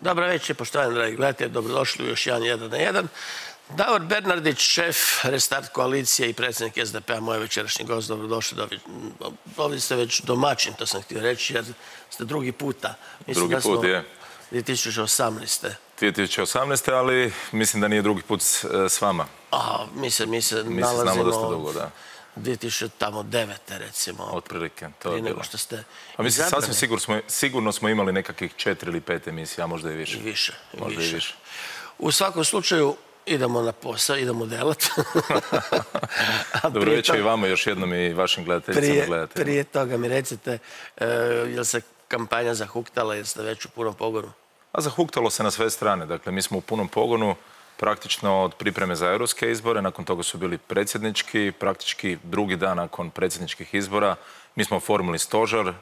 Dobro večer, poštovani dragi gledatelji, dobrodošli u još jedan 1 na 1. Davor Bernardić, šef Restart koalicije i predsjednik SDP-a, moj večerašnji gost, dobrodošli. Ovdje ste već domaćin, to sam htio reći, jer ste drugi puta. Drugi put je. 2018. 2018. ali mislim da nije drugi put s vama. Mi se znamo dosta dugo, da. 2009. recimo. Otprilike, to je bilo. Što ste a mislim, sasvim sigurno smo imali nekakvih 4 ili 5 emisija, a možda i više. Možda i više. U svakom slučaju, idemo na posao, idemo delat. Dobro večer i vama još jednom i vašim gledateljicama. Prije toga mi recite, je li se kampanja zahuktala, jer ste već u punom pogonu? A zahuktalo se na sve strane. Dakle, mi smo u punom pogonu praktično od pripreme za europske izbore, nakon toga su bili predsjednički, praktički drugi dan nakon predsjedničkih izbora. Mi smo oformili stožer,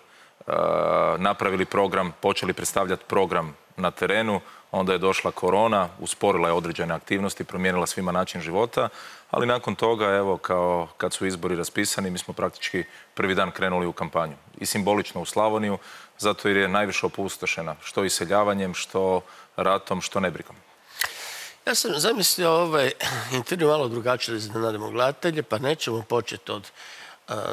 napravili program, počeli predstavljati program na terenu, onda je došla korona, usporila je određene aktivnosti, promijenila svima način života, ali nakon toga, evo, kao kad su izbori raspisani, mi smo praktički prvi dan krenuli u kampanju. I simbolično u Slavoniju, zato jer je najviše opustošena, što iseljavanjem, što ratom, što nebrigom. Ja sam zamislio ovaj intervju malo drugačije da iznenadimo gledatelje, pa nećemo početi od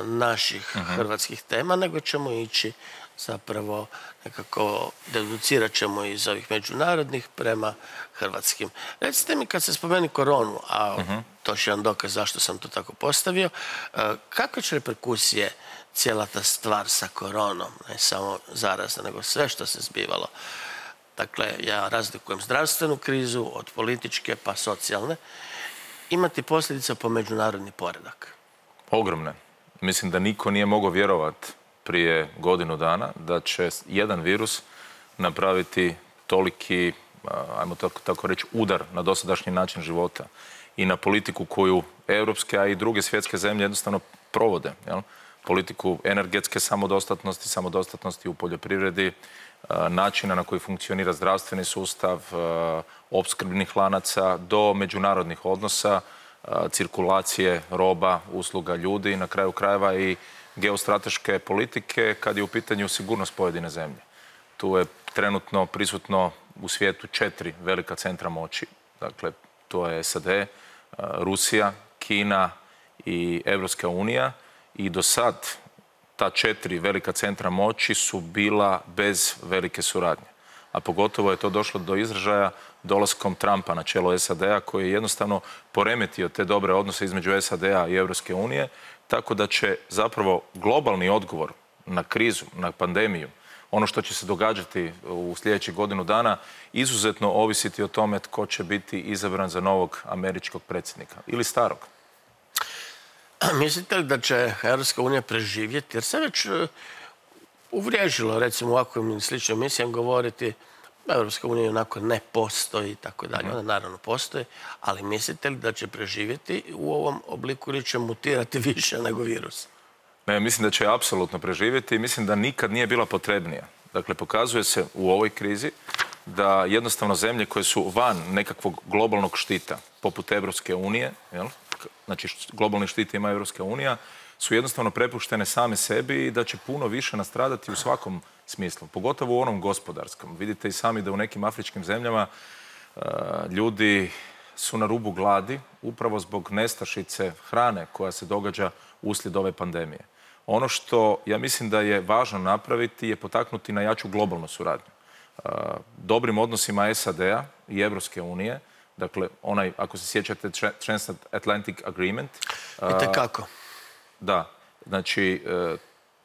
naših hrvatskih tema, nego ćemo ići zapravo nekako, deducirat ćemo iz ovih međunarodnih prema hrvatskim. Recite mi, kad se spomeni koronu, a to je jedan dokaz zašto sam to tako postavio, kakve će reperkusije cijela ta stvar sa koronom, ne samo zarazna, nego sve što se zbivalo? Dakle, ja razlikujem zdravstvenu krizu od političke pa socijalne, imati posljedice po međunarodni poredak. Ogromne. Mislim da niko nije mogao vjerovati prije godinu dana da će jedan virus napraviti toliki, ajmo tako reći, udar na dosadašnji način života i na politiku koju europske, a i druge svjetske zemlje jednostavno provode. Politiku energetske samodostatnosti u poljoprivredi, načina na koji funkcionira zdravstveni sustav, opskrbnih lanaca, do međunarodnih odnosa, cirkulacije roba, usluga, ljudi, na kraju krajeva i geostrateške politike kad je u pitanju sigurnost pojedine zemlje. Tu je trenutno prisutno u svijetu 4 velika centra moći. Dakle, to je SAD, Rusija, Kina i Europska unija i do sad ta 4 velika centra moći su bila bez velike suradnje. A pogotovo je to došlo do izražaja dolaskom Trumpa na čelo SAD-a koji je jednostavno poremetio te dobre odnose između SAD-a i Europske unije, tako da će zapravo globalni odgovor na krizu, na pandemiju, ono što će se događati u sljedećih godinu dana, izuzetno ovisiti o tome tko će biti izabran za novog američkog predsjednika ili starog. Mislite li da će Europska unija preživjeti? Jer se već uvriježilo, recimo u ovakvim sličnim emisijama govoriti Europska unija onako ne postoji i tako dalje. Ona naravno postoji, ali mislite li da će preživjeti u ovom obliku ili će mutirati više nego virus? Ne, mislim da će apsolutno preživjeti i mislim da nikad nije bila potrebnija. Dakle, pokazuje se u ovoj krizi da jednostavno zemlje koje su van nekakvog globalnog štita, poput Europske unije, znači globalni štit ima Europska unija, su jednostavno prepuštene same sebi i da će puno više nastradati u svakom smislu, pogotovo u onom gospodarskom. Vidite i sami da u nekim afričkim zemljama ljudi su na rubu gladi upravo zbog nestašice hrane koja se događa uslijed ove pandemije. Ono što ja mislim da je važno napraviti je potaknuti na jaču globalnu suradnju. Dobrim odnosima SAD-a i Europske unije, dakle, onaj, ako se sjećate, Transatlantic Agreement. Itekako. Da, znači,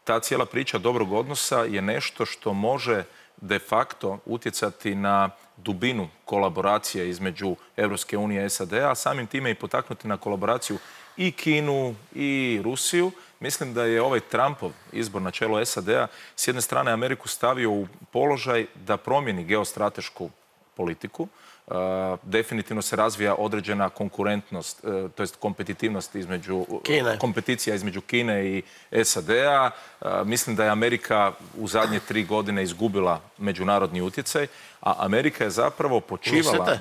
ta cijela priča dobrog odnosa je nešto što može de facto utjecati na dubinu kolaboracije između Europske unije i SAD-a, a samim time i potaknuti na kolaboraciju i Kinu i Rusiju. Mislim da je ovaj Trumpov izbor na čelo SAD-a s jedne strane Ameriku stavio u položaj da promijeni geostratešku politiku. Definitivno se razvija određena konkurentnost, to jest kompetitivnost kompeticija između Kine i SAD-a. Mislim da je Amerika u zadnje 3 godine izgubila međunarodni utjecaj, a Amerika je zapravo počivala... Mislite?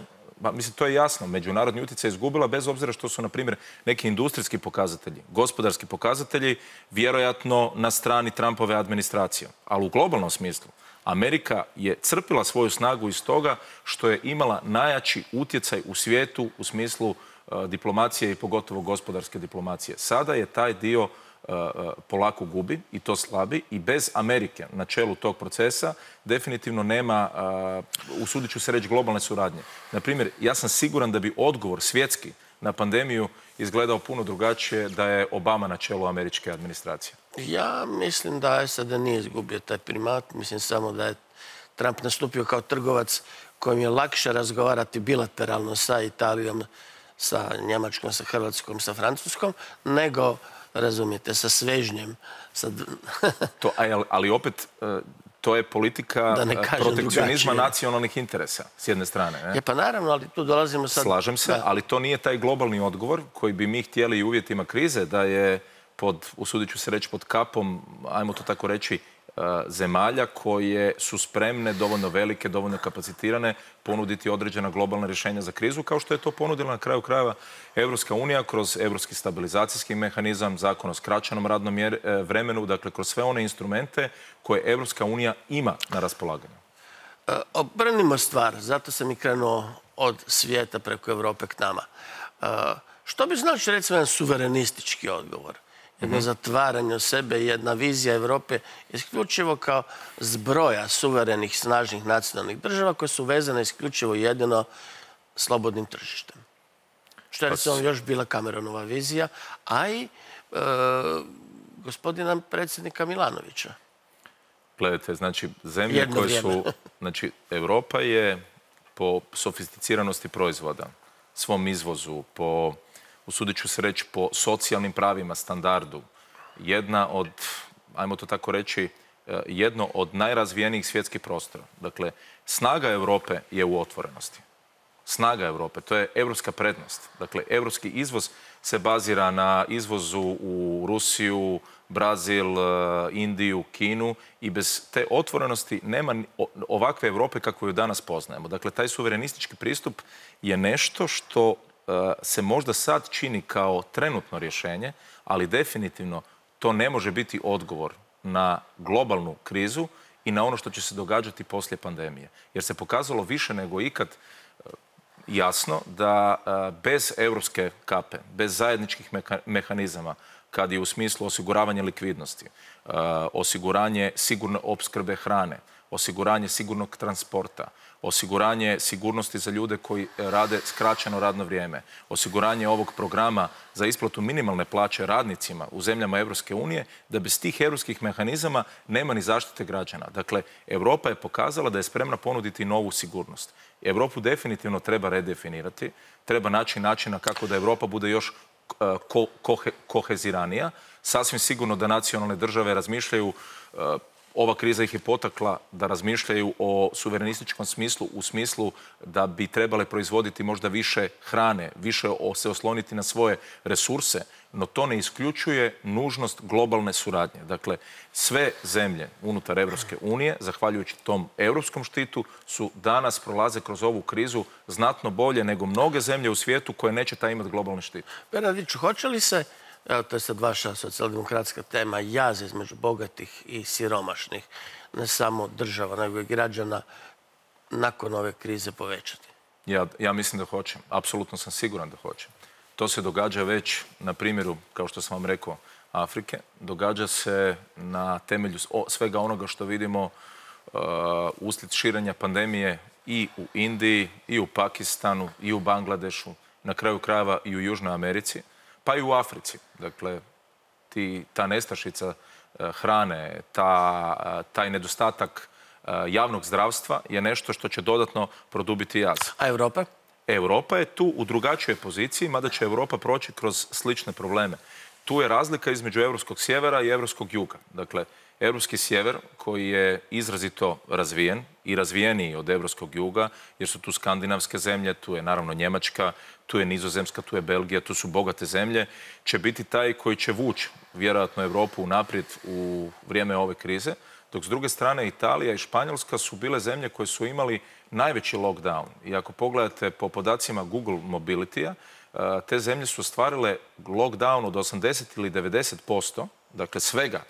Mislim, to je jasno. Međunarodni utjecaj je izgubila bez obzira što su, na primjer, neki industrijski pokazatelji, gospodarski pokazatelji, vjerojatno na strani Trumpove administracije. Ali u globalnom smislu, Amerika je crpila svoju snagu iz toga što je imala najjači utjecaj u svijetu u smislu diplomacije i pogotovo gospodarske diplomacije. Sada je taj dio polako gubi i to slabi i bez Amerike na čelu tog procesa definitivno nema, usudit ću se reći, globalne suradnje. Naprimjer, ja sam siguran da bi odgovor svjetski na pandemiju izgledao puno drugačije da je Obama na čelu američke administracije. Ja mislim da SAD nije izgubio taj primat. Mislim samo da je Trump nastupio kao trgovac kojim je lakše razgovarati bilateralno sa Italijom, sa Njemačkom, sa Hrvatskom, sa Francuskom, nego, razumijete, sa svežnjem. Ali opet, to je politika protekcionizma nacionalnih interesa, s jedne strane. Ne? Pa naravno, ali tu dolazimo sad... Slažem se, ali to nije taj globalni odgovor koji bi mi htjeli u uvjetima krize, da je usudit ću se reći, pod kapom, ajmo to tako reći, zemalja koje su spremne, dovoljno velike, dovoljno kapacitirane, ponuditi određena globalna rješenja za krizu, kao što je to ponudila na kraju krajeva Europska unija kroz Europski stabilizacijski mehanizam, zakon o skraćenom radnom vremenu, dakle kroz sve one instrumente koje Europska unija ima na raspolaganju. Obrnimo stvar, zato sam i krenuo od svijeta preko Europe k nama. Što bi znači, recimo, jedan suverenistički odgovor? Jedno zatvaranje u sebe, jedna vizija Europe isključivo kao zbroja suverenih, snažnih nacionalnih država koje su vezane isključivo jedino slobodnim tržištem. Što je recimo još bila Cameronova vizija, a i gospodina predsjednika Milanovića. Gledajte, znači, zemlje koje su... Znači, Europa je po sofisticiranosti proizvoda, svom izvozu, po... usudit ću se reći, po socijalnim pravima, standardu, jedna od, ajmo to tako reći, jedno od najrazvijenijih svjetskih prostora. Dakle, snaga Europe je u otvorenosti. Snaga Europe, to je europska prednost. Dakle, europski izvoz se bazira na izvozu u Rusiju, Brazil, Indiju, Kinu i bez te otvorenosti nema ovakve Europe kakvu ju danas poznajemo. Dakle, taj suverenistički pristup je nešto što se možda sad čini kao trenutno rješenje, ali definitivno to ne može biti odgovor na globalnu krizu i na ono što će se događati poslije pandemije. Jer se pokazalo više nego ikad jasno da bez europske kape, bez zajedničkih mehanizama, kad je u smislu osiguravanja likvidnosti, osiguranje sigurne opskrbe hrane, osiguranje sigurnog transporta, osiguranje sigurnosti za ljude koji rade skraćeno radno vrijeme, osiguranje ovog programa za isplatu minimalne plaće radnicima u zemljama Europske unije, da bez tih europskih mehanizama nema ni zaštite građana. Dakle, Europa je pokazala da je spremna ponuditi novu sigurnost. Europu definitivno treba redefinirati, treba naći načina kako da Europa bude još koheziranija. Sasvim sigurno da nacionalne države razmišljaju, ova kriza ih je potakla da razmišljaju o suverenističkom smislu, u smislu da bi trebale proizvoditi možda više hrane, više se osloniti na svoje resurse, no to ne isključuje nužnost globalne suradnje. Dakle, sve zemlje unutar Europske unije, zahvaljujući tom europskom štitu, su danas prolaze kroz ovu krizu znatno bolje nego mnoge zemlje u svijetu koje neće taj imati globalni štit. Bernardiću, hoće li se, evo to je sad vaša socijaldemokratska tema, jaz između bogatih i siromašnih, ne samo država, nego i građana, nakon ove krize povećati? Ja mislim da hoće. Apsolutno sam siguran da hoće. To se događa već na primjeru, kao što sam vam rekao, Afrike. Događa se na temelju svega onoga što vidimo uslijed širenja pandemije i u Indiji, i u Pakistanu, i u Bangladešu, na kraju krajeva i u Južnoj Americi, pa i u Africi. Dakle, ta nestašica hrane, taj nedostatak javnog zdravstva je nešto što će dodatno produbiti jaz. A Europa? Europa je tu u drugačijoj poziciji, mada će Europa proći kroz slične probleme. Tu je razlika između europskog sjevera i europskog juga. Dakle, europski sjever koji je izrazito razvijen i razvijeniji od europskog juga, jer su tu skandinavske zemlje, tu je naravno Njemačka, tu je Nizozemska, tu je Belgija, tu su bogate zemlje, će biti taj koji će vući vjerojatno Europu naprijed u vrijeme ove krize, dok s druge strane Italija i Španjolska su bile zemlje koje su imali najveći lockdown. I ako pogledate po podacima Google Mobility-a, te zemlje su ostvarile lockdown od 80 ili 90%, dakle svega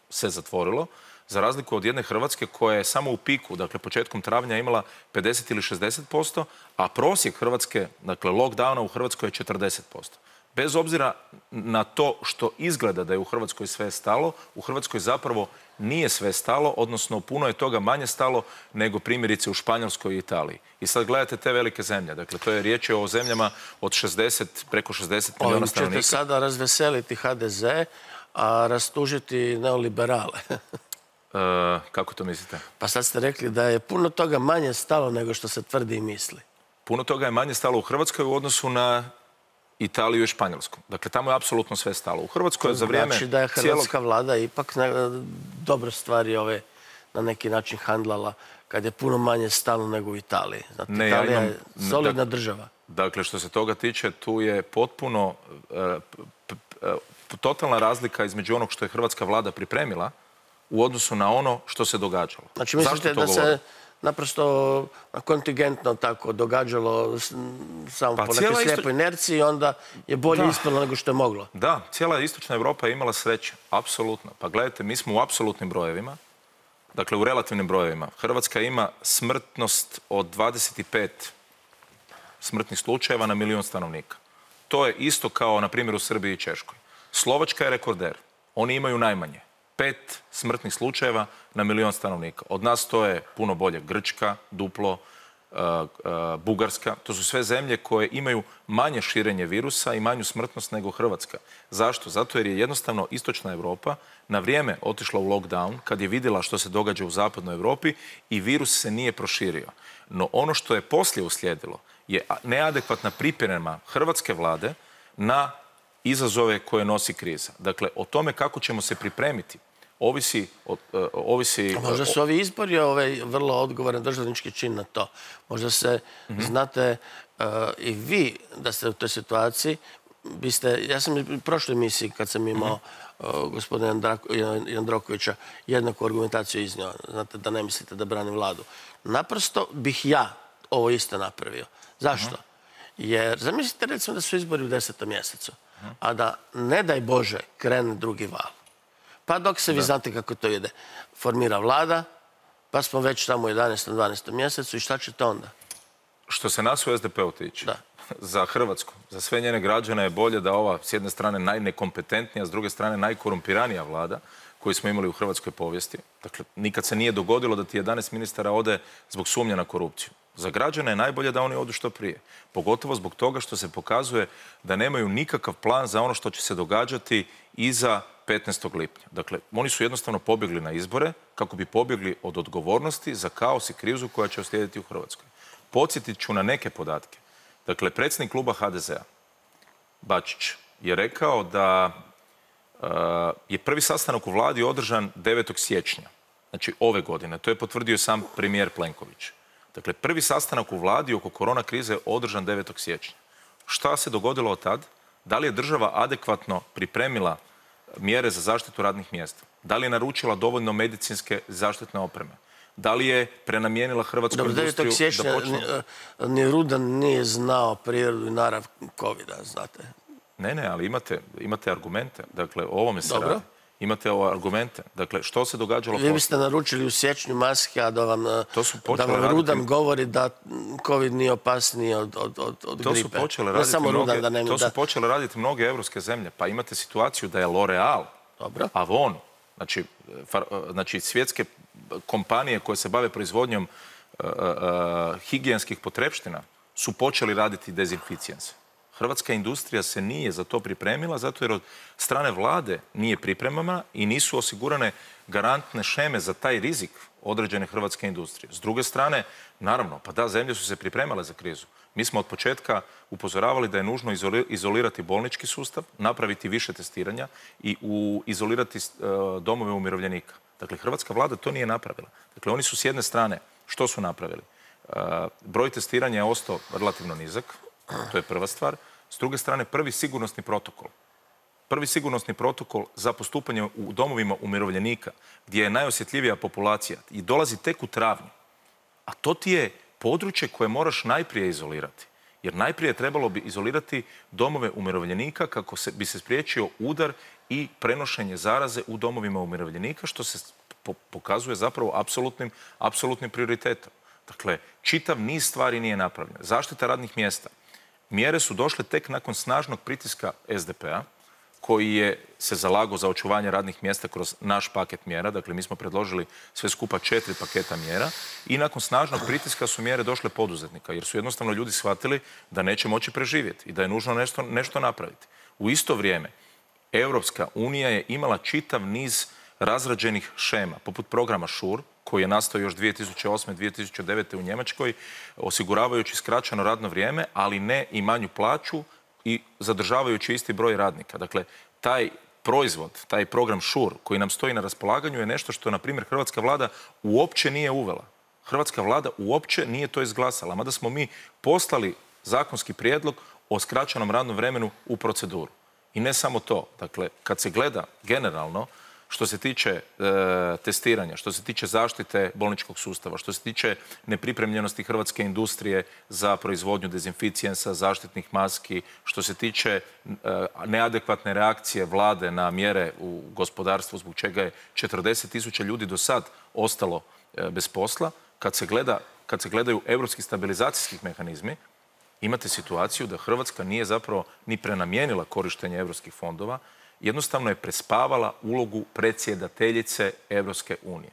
se zatvorilo, Za razliku od jedne Hrvatske koja je samo u piku, dakle početkom travnja imala 50 ili 60%, a prosjek Hrvatske, dakle lockdowna u Hrvatskoj je 40%. Bez obzira na to što izgleda da je u Hrvatskoj sve stalo, u Hrvatskoj zapravo nije sve stalo, odnosno puno je toga manje stalo nego primjerice u Španjolskoj i Italiji. I sad gledate te velike zemlje, dakle to je riječ o zemljama od 60, preko 60 milijuna stanovnika. Ovim ćete sada razveseliti HDZ, a rastužiti neoliberale. Kako to mislite? Pa sad ste rekli da je puno toga manje stalo nego što se tvrdi i misli. Puno toga je manje stalo u Hrvatskoj u odnosu na Italiju i Španjolsku. Dakle, tamo je apsolutno sve stalo. U Hrvatskoj je za vrijeme znači da je hrvatska vlada ipak dobro stvari na neki način handlala kad je puno manje stalo nego u Italiji. Znate, Italija je solidna država. Dakle, što se toga tiče, tu je potpuno totalna razlika između onog što je hrvatska vlada pripremila u odnosu na ono što se događalo. Znači, mislite da se naprosto kontingentno tako događalo samo po nekoj slijepoj inerciji, onda je bolje ispalo nego što je moglo. Da, cijela istočna Europa je imala sreće, apsolutno. Pa gledajte, mi smo u apsolutnim brojevima, dakle u relativnim brojevima. Hrvatska ima smrtnost od 25 smrtnih slučajeva na milijun stanovnika. To je isto kao, na primjer, u Srbiji i Češkoj. Slovačka je rekorder. Oni imaju najmanje. 5 smrtnih slučajeva na milijun stanovnika. Od nas to je puno bolje. Grčka, duplo, Bugarska. To su sve zemlje koje imaju manje širenje virusa i manju smrtnost nego Hrvatska. Zašto? Zato jer je jednostavno istočna Europa na vrijeme otišla u lockdown kad je vidjela što se događa u zapadnoj Europi i virus se nije proširio. No ono što je poslije uslijedilo je neadekvatna priprema hrvatske vlade na izazove koje nosi kriza. Dakle, o tome kako ćemo se pripremiti ovisi... Možda su ovi izbori vrlo odgovoran državnički čin na to. Možda se, znate, i vi da ste u toj situaciji, ja sam u prošloj emisiji kad sam imao gospodina Jandrokovića jednaku argumentaciju iznio, znate, da ne mislite da branim vladu. Naprosto bih ja ovo isto napravio. Zašto? Jer zamislite recimo da su izbori u 10. mjesecu, a da, ne daj Bože, krene drugi val. Pa dok se, vi znate kako to ide, formira vlada, pa smo već tamo u 11. 12. mjesecu i šta će to onda? Što se nas u SDP-u tiče, za Hrvatsku, za sve njene građane je bolje da ova s jedne strane najnekompetentnija, s druge strane najkorumpiranija vlada koju smo imali u hrvatskoj povijesti. Dakle, nikad se nije dogodilo da ti 11 ministara ode zbog sumnja na korupciju. Za građane je najbolje da oni odu što prije. Pogotovo zbog toga što se pokazuje da nemaju nikakav plan za ono što će se događati iza 15. lipnja. Dakle, oni su jednostavno pobjegli na izbore kako bi pobjegli od odgovornosti za kaos i krizu koja će uslijediti u Hrvatskoj. Podsjetit ću na neke podatke. Dakle, predsjednik kluba HDZ-a, Bačić, je rekao da je prvi sastanak u vladi održan 9. siječnja, znači ove godine. To je potvrdio sam premijer Plenković. Dakle, prvi sastanak u vladi oko korona krize je održan 9. siječnja. Šta se dogodilo od tad? Da li je država adekvatno pripremila mjere za zaštitu radnih mjesta? Da li je naručila dovoljno medicinske zaštitne opreme? Da li je prenamijenila hrvatsku industriju? 9. siječnja ni Rudan nije znao prirodu i narav covida, znate. Ne, ali imate argumente. Dakle, o ovome se radi. Imate argumente. Dakle, što se događalo... Vi biste naručili u siječnju maske, a da vam Rudan govori da COVID nije opasniji od gripe. Ne samo Rudan da ne... To su počele raditi mnoge evropske zemlje. Pa imate situaciju da je L'Oreal, Avon, znači svjetske kompanije koje se bave proizvodnjom higijenskih potrepština su počeli raditi dezinficijense. Hrvatska industrija se nije za to pripremila zato jer od strane vlade nije pripremama i nisu osigurane garantne šeme za taj rizik određene hrvatske industrije. S druge strane, naravno, pa da, zemlje su se pripremale za krizu. Mi smo od početka upozoravali da je nužno izolirati bolnički sustav, napraviti više testiranja i izolirati domove umirovljenika. Dakle, hrvatska vlada to nije napravila. Dakle, oni su s jedne strane, što su napravili? Broj testiranja je ostao relativno nizak, to je prva stvar. S druge strane, prvi sigurnosni protokol. Prvi sigurnosni protokol za postupanje u domovima umirovljenika, gdje je najosjetljivija populacija i dolazi tek u travnju. A to ti je područje koje moraš najprije izolirati. Jer najprije trebalo bi izolirati domove umirovljenika kako bi se spriječio udar i prenošenje zaraze u domovima umirovljenika, što se pokazuje zapravo apsolutnim prioritetom. Dakle, čitav niz stvari nije napravljen. Zaštita radnih mjesta. Mjere su došle tek nakon snažnog pritiska SDP-a, koji je se zalagao za očuvanje radnih mjesta kroz naš paket mjera. Dakle, mi smo predložili sve skupa 4 paketa mjera i nakon snažnog pritiska su mjere došle poduzetnika, jer su jednostavno ljudi shvatili da neće moći preživjeti i da je nužno nešto napraviti. U isto vrijeme, Europska unija je imala čitav niz razrađenih šema, poput programa SURE, koji je nastao još 2008. 2009. u Njemačkoj, osiguravajući skraćeno radno vrijeme, ali ne i manju plaću i zadržavajući isti broj radnika. Dakle, taj proizvod, taj program SURE koji nam stoji na raspolaganju je nešto što, na primjer, hrvatska vlada uopće nije uvela. Hrvatska vlada uopće nije to izglasala, mada smo mi poslali zakonski prijedlog o skraćenom radnom vremenu u proceduru. I ne samo to. Dakle, kad se gleda generalno, što se tiče testiranja, što se tiče zaštite bolničkog sustava, što se tiče nepripremljenosti hrvatske industrije za proizvodnju dezinficijensa, zaštitnih maski, što se tiče neadekvatne reakcije vlade na mjere u gospodarstvu, zbog čega je 40.000 ljudi do sad ostalo bez posla, kad se gledaju europski stabilizacijski mehanizmi, imate situaciju da Hrvatska nije zapravo ni prenamijenila korištenje europskih fondova, jednostavno je prespavala ulogu predsjedateljice Europske unije.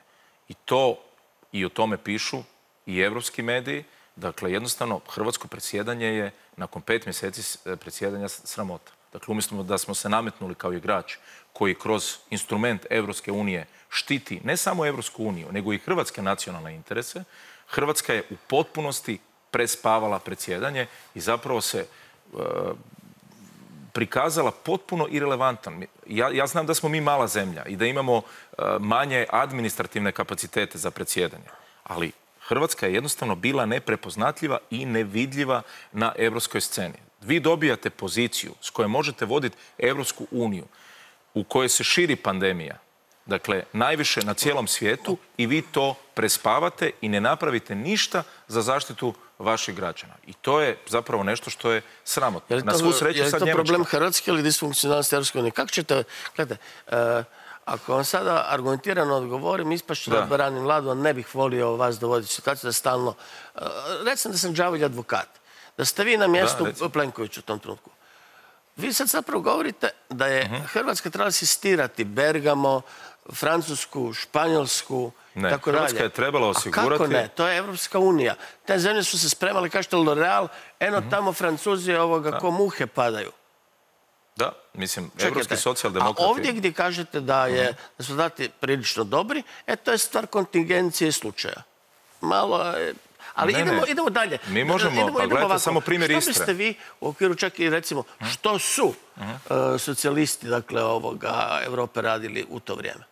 I o tome pišu i europski mediji. Dakle, jednostavno, hrvatsko predsjedanje je nakon 5 mjeseci predsjedanja sramota. Dakle, umjesto da smo se nametnuli kao igrač koji kroz instrument Europske unije štiti ne samo Europsku uniju, nego i hrvatske nacionalne interese, Hrvatska je u potpunosti prespavala predsjedanje i zapravo se prikazala potpuno irelevantan. Ja znam da smo mi mala zemlja i da imamo manje administrativne kapacitete za predsjedanje, ali Hrvatska je jednostavno bila neprepoznatljiva i nevidljiva na europskoj sceni. Vi dobijate poziciju s kojom možete voditi Europsku uniju u kojoj se širi pandemija, dakle najviše na cijelom svijetu, i vi to prespavate i ne napravite ništa za zaštitu vaših građana. I to je zapravo nešto što je sramotno. Na svu sreću sad Njemačka. Je li to problem Hrvatske ili disfunkcionalnosti Europske unije? Kako ćete, gledajte, ako vam sada argumentirano odgovorim, ispašću da branim vladu, a ne bih volio vas dovoditi u situaciju da stalno... Recimo da sam đavolji advokat, da ste vi na mjestu Plenkovića u tom trenutku. Vi sad zapravo govorite da je Hrvatska trebala asistirati Bergamo, Francusku, Španjolsku, ne, tako dalje. Hrvatska je trebala osigurati... A kako ne? To je Evropska unija. Te zemlje su se spremali, kažete L'Oreal, eno tamo Francuzi ko muhe padaju. Da, mislim, evropski socijaldemokrati... A ovdje gdje kažete da su dati prilično dobri, to je stvar kontingencije i slučaja. Malo je... Ali idemo dalje. Mi možemo, pa gledajte samo primjer Istre. Što biste vi u okviru čak i recimo, što su socijalisti, dakle, Evrope radili u to vrijeme?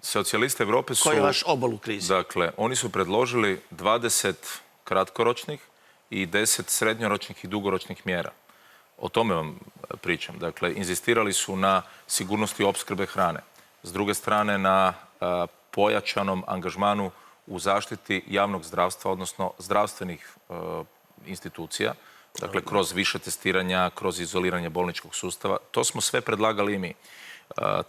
Socijalisti Evrope su... Koji je vaš obol u krizi? Dakle, oni su predložili 20 kratkoročnih i 10 srednjoročnih i dugoročnih mjera. O tome vam pričam. Dakle, inzistirali su na sigurnosti opskrbe hrane. S druge strane, na pojačanom angažmanu u zaštiti javnog zdravstva, odnosno zdravstvenih institucija, dakle kroz više testiranja, kroz izoliranje bolničkog sustava. To smo sve predlagali i mi.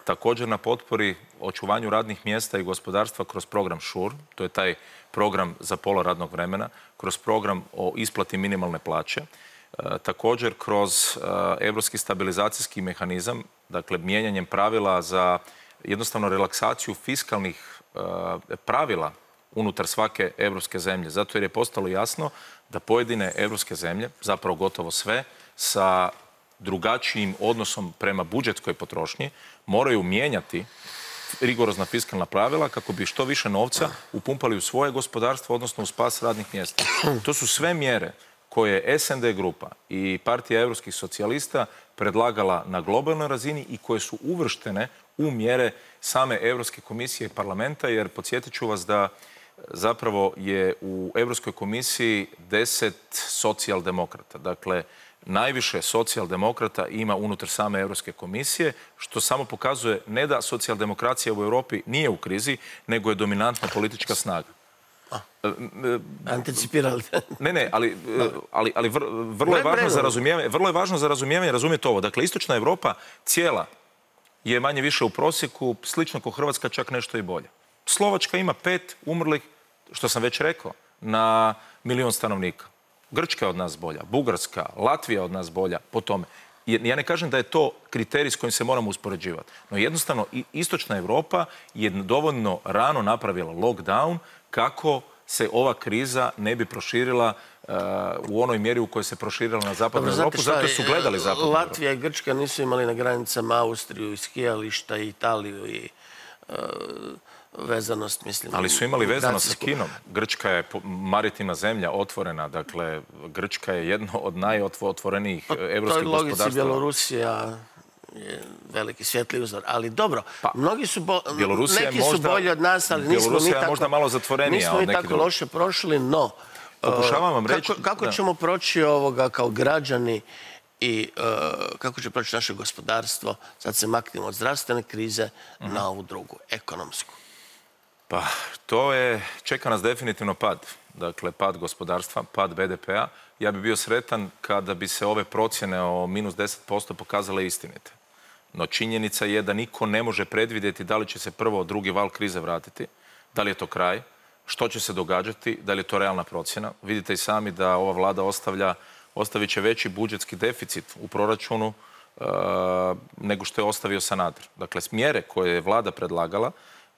Također na potpori očuvanju radnih mjesta i gospodarstva kroz program SURE, to je taj program za pola radnog vremena, kroz program o isplati minimalne plaće, također kroz europski stabilizacijski mehanizam, dakle mijenjanjem pravila za jednostavno relaksaciju fiskalnih pravila unutar svake europske zemlje. Zato jer je postalo jasno da pojedine europske zemlje, zapravo gotovo sve, sa drugačijim odnosom prema budžetskoj potrošnji moraju mijenjati rigorozna fiskalna pravila kako bi što više novca upumpali u svoje gospodarstvo, odnosno u spas radnih mjesta. To su sve mjere koje je SND grupa i Partija europskih socijalista predlagala na globalnoj razini i koje su uvrštene u mjere same Europske komisije i parlamenta, jer podsjetit ću vas da zapravo je u Europskoj komisiji 10 socijaldemokrata. Dakle, najviše socijaldemokrata ima unutar same Europske komisije, što samo pokazuje ne da socijaldemokracija u Europi nije u krizi, nego je dominantna politička snaga. Anticipirali. Ne, ali vrlo je važno za razumijevanje, razumijete ovo. Dakle, istočna Europa cijela je manje više u prosjeku, slično kao Hrvatska, čak nešto i bolje. Slovačka ima 5 umrlih, što sam već rekao, na 1 milijun stanovnika. Grčka je od nas bolja, Bugarska, Latvija od nas bolja po tome. Ja ne kažem da je to kriterij s kojim se moramo uspoređivati, no jednostavno istočna Europa je dovoljno rano napravila lockdown kako se ova kriza ne bi proširila u onoj mjeri u kojoj se proširila na zapadnu Europu, zato su gledali zapadnu Europu. Latvija i Grčka nisu imali na granicama Austriju i skijališta i Italiju i vezanost, mislim. Ali su imali vezanost sa Kinom. Grčka je maritimna zemlja, otvorena. Dakle, Grčka je jedno od najotvorenijih evropskih gospodarstava. To je logici Bjelorusija je veliki svijetli uzor. Ali dobro, neki su bolji od nas, ali nismo ni tako loše prošli, no pokušavam vam reći kako ćemo proći ovoga kao građani i kako će proći naše gospodarstvo, sad se maknemo od zdravstvene krize na ovu drugu, ekonomsku. Pa, čeka nas definitivno pad. Dakle, pad gospodarstva, pad BDP-a. Ja bi bio sretan kada bi se ove procjene o minus 10% pokazale istinite. No činjenica je da niko ne može predvidjeti da li će se prvo drugi val krize vratiti, da li je to kraj, što će se događati, da li je to realna procjena. Vidite i sami da ova vlada ostavit će veći budžetski deficit u proračunu nego što je ostavio Sanader. Dakle, mjere koje je vlada predlagala,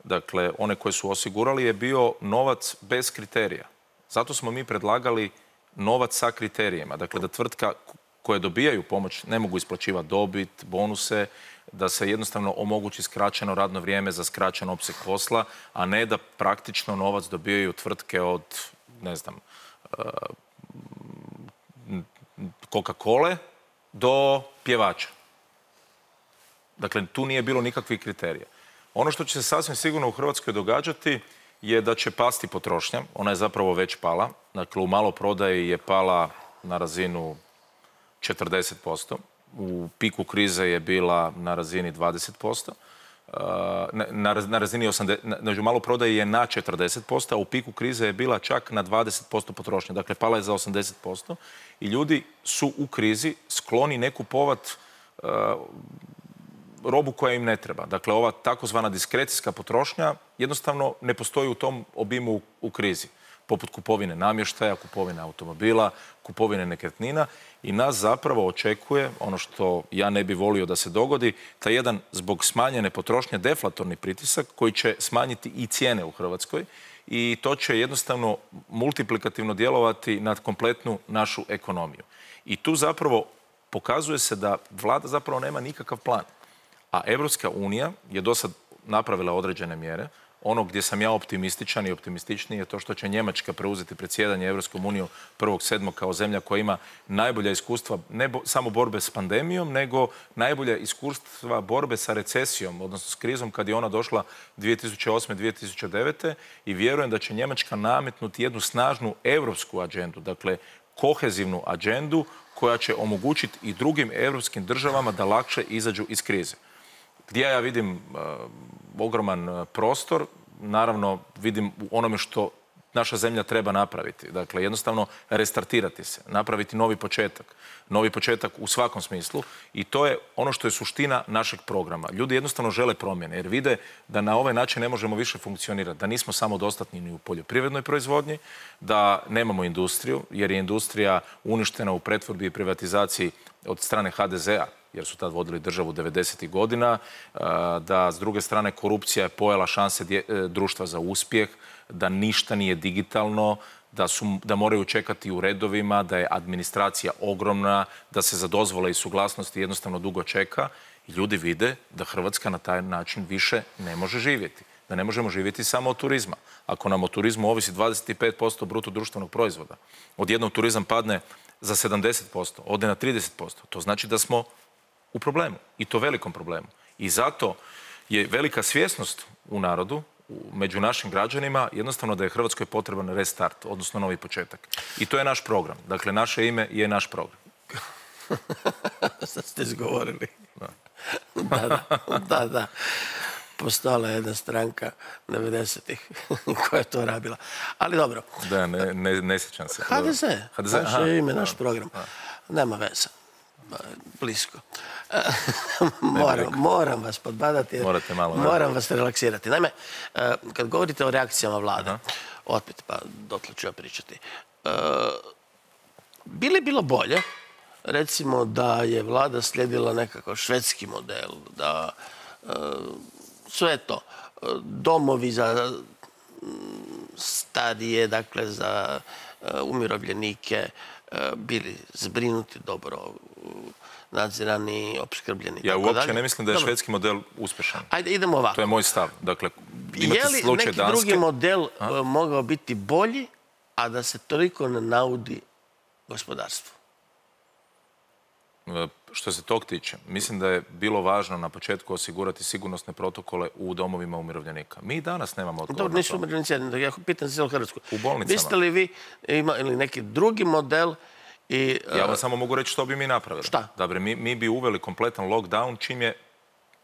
dakle, one koje su osigurali, je bio novac bez kriterija. Zato smo mi predlagali novac sa kriterijima. Dakle, da tvrtka koje dobijaju pomoć ne mogu isplaćivati dobit, bonuse, da se jednostavno omogući skraćeno radno vrijeme za skraćen opseg posla, a ne da praktično novac dobijaju tvrtke od, ne znam, Coca-Cole do pjevača. Dakle, tu nije bilo nikakvih kriterija. Ono što će se sasvim sigurno u Hrvatskoj događati je da će pasti potrošnja. Ona je zapravo već pala. Dakle, u maloprodaji je pala na razinu 40%. U piku krize je bila na razini 20%. Na razini 80%. U maloprodaji je na 40%, a u piku krize je bila čak na 20% potrošnje. Dakle, pala je za 80%. I ljudi su u krizi skloni ne kupovati robu koja im ne treba. Dakle, ova takozvana diskrecijska potrošnja jednostavno ne postoji u tom obimu u krizi. Poput kupovine namještaja, kupovine automobila, kupovine nekretnina. I nas zapravo očekuje, ono što ja ne bi volio da se dogodi, taj jedan zbog smanjene potrošnje deflatorni pritisak koji će smanjiti i cijene u Hrvatskoj i to će jednostavno multiplikativno djelovati na kompletnu našu ekonomiju. I tu zapravo pokazuje se da vlada zapravo nema nikakav plan. A Evropska unija je do sad napravila određene mjere. Ono gdje sam ja optimističan i optimističniji je to što će Njemačka preuzeti predsjedanje Evropskom unijom 1.7. kao zemlja koja ima najbolja iskustva ne samo borbe s pandemijom, nego najbolja iskustva borbe sa recesijom, odnosno s krizom kad je ona došla 2008-2009. I vjerujem da će Njemačka nametnuti jednu snažnu europsku agendu, dakle kohezivnu agendu koja će omogućiti i drugim europskim državama da lakše izađu iz krize. Gdje ja vidim ogroman prostor, naravno vidim u onome što naša zemlja treba napraviti. Dakle, jednostavno restartirati se, napraviti novi početak u svakom smislu i to je ono što je suština našeg programa. Ljudi jednostavno žele promjene jer vide da na ovaj način ne možemo više funkcionirati, da nismo samodostatni ni u poljoprivrednoj proizvodnji, da nemamo industriju jer je industrija uništena u pretvorbi i privatizaciji od strane HDZ-a, jer su tad vodili državu 90. godina, da s druge strane korupcija je pojela šanse društva za uspjeh, da ništa nije digitalno, da moraju čekati u redovima, da je administracija ogromna, da se za dozvole i suglasnosti jednostavno dugo čeka. I ljudi vide da Hrvatska na taj način više ne može živjeti. Da ne možemo živjeti samo od turizma. Ako nam o turizmu ovisi 25% bruto društvenog proizvoda, odjednom turizam padne za 70%, ode na 30%, to znači da smo u problemu i to velikom problemu. I zato je velika svjesnost u narodu, među našim građanima, jednostavno da je Hrvatskoj potreban restart, odnosno novi početak. I to je naš program. Dakle, naše ime je naš program. Sad ste izgovorili. Da. Postojala je jedna stranka 90-ih koja je to rabila. Ali dobro. Da, ne sjećam se. HDZ. Naše ime, naš program. Nema veze. Blisko. Moram vas podbadati, moram vas relaksirati. Naime, kad govorite o reakcijama vlade, opet, pa dotle ću ja pričati, bi li bilo bolje, recimo, da je vlada slijedila nekakav švedski model, da sve to, domovi za starije, dakle za umirovljenike, bili zbrinuti, dobro nadzirani, opskrbljeni. Ja uopće ne mislim da je švedski model uspješan. Ajde, idemo ovako. To je moj stav. Dakle, je li neki drugi model mogao biti bolji, a da se toliko ne naudi gospodarstvu? Što se tog tiče, mislim da je bilo važno na početku osigurati sigurnosne protokole u domovima umirovljenika. Mi danas nemamo odgovor. Dobro, nisu umirovljenici, ja pitam za cijelu Hrvatsku. U bolnicama. Biste li vi imali neki drugi model? Ja vam samo mogu reći što bi mi napravili. Šta? Dobre, mi bi uveli kompletan lockdown čim je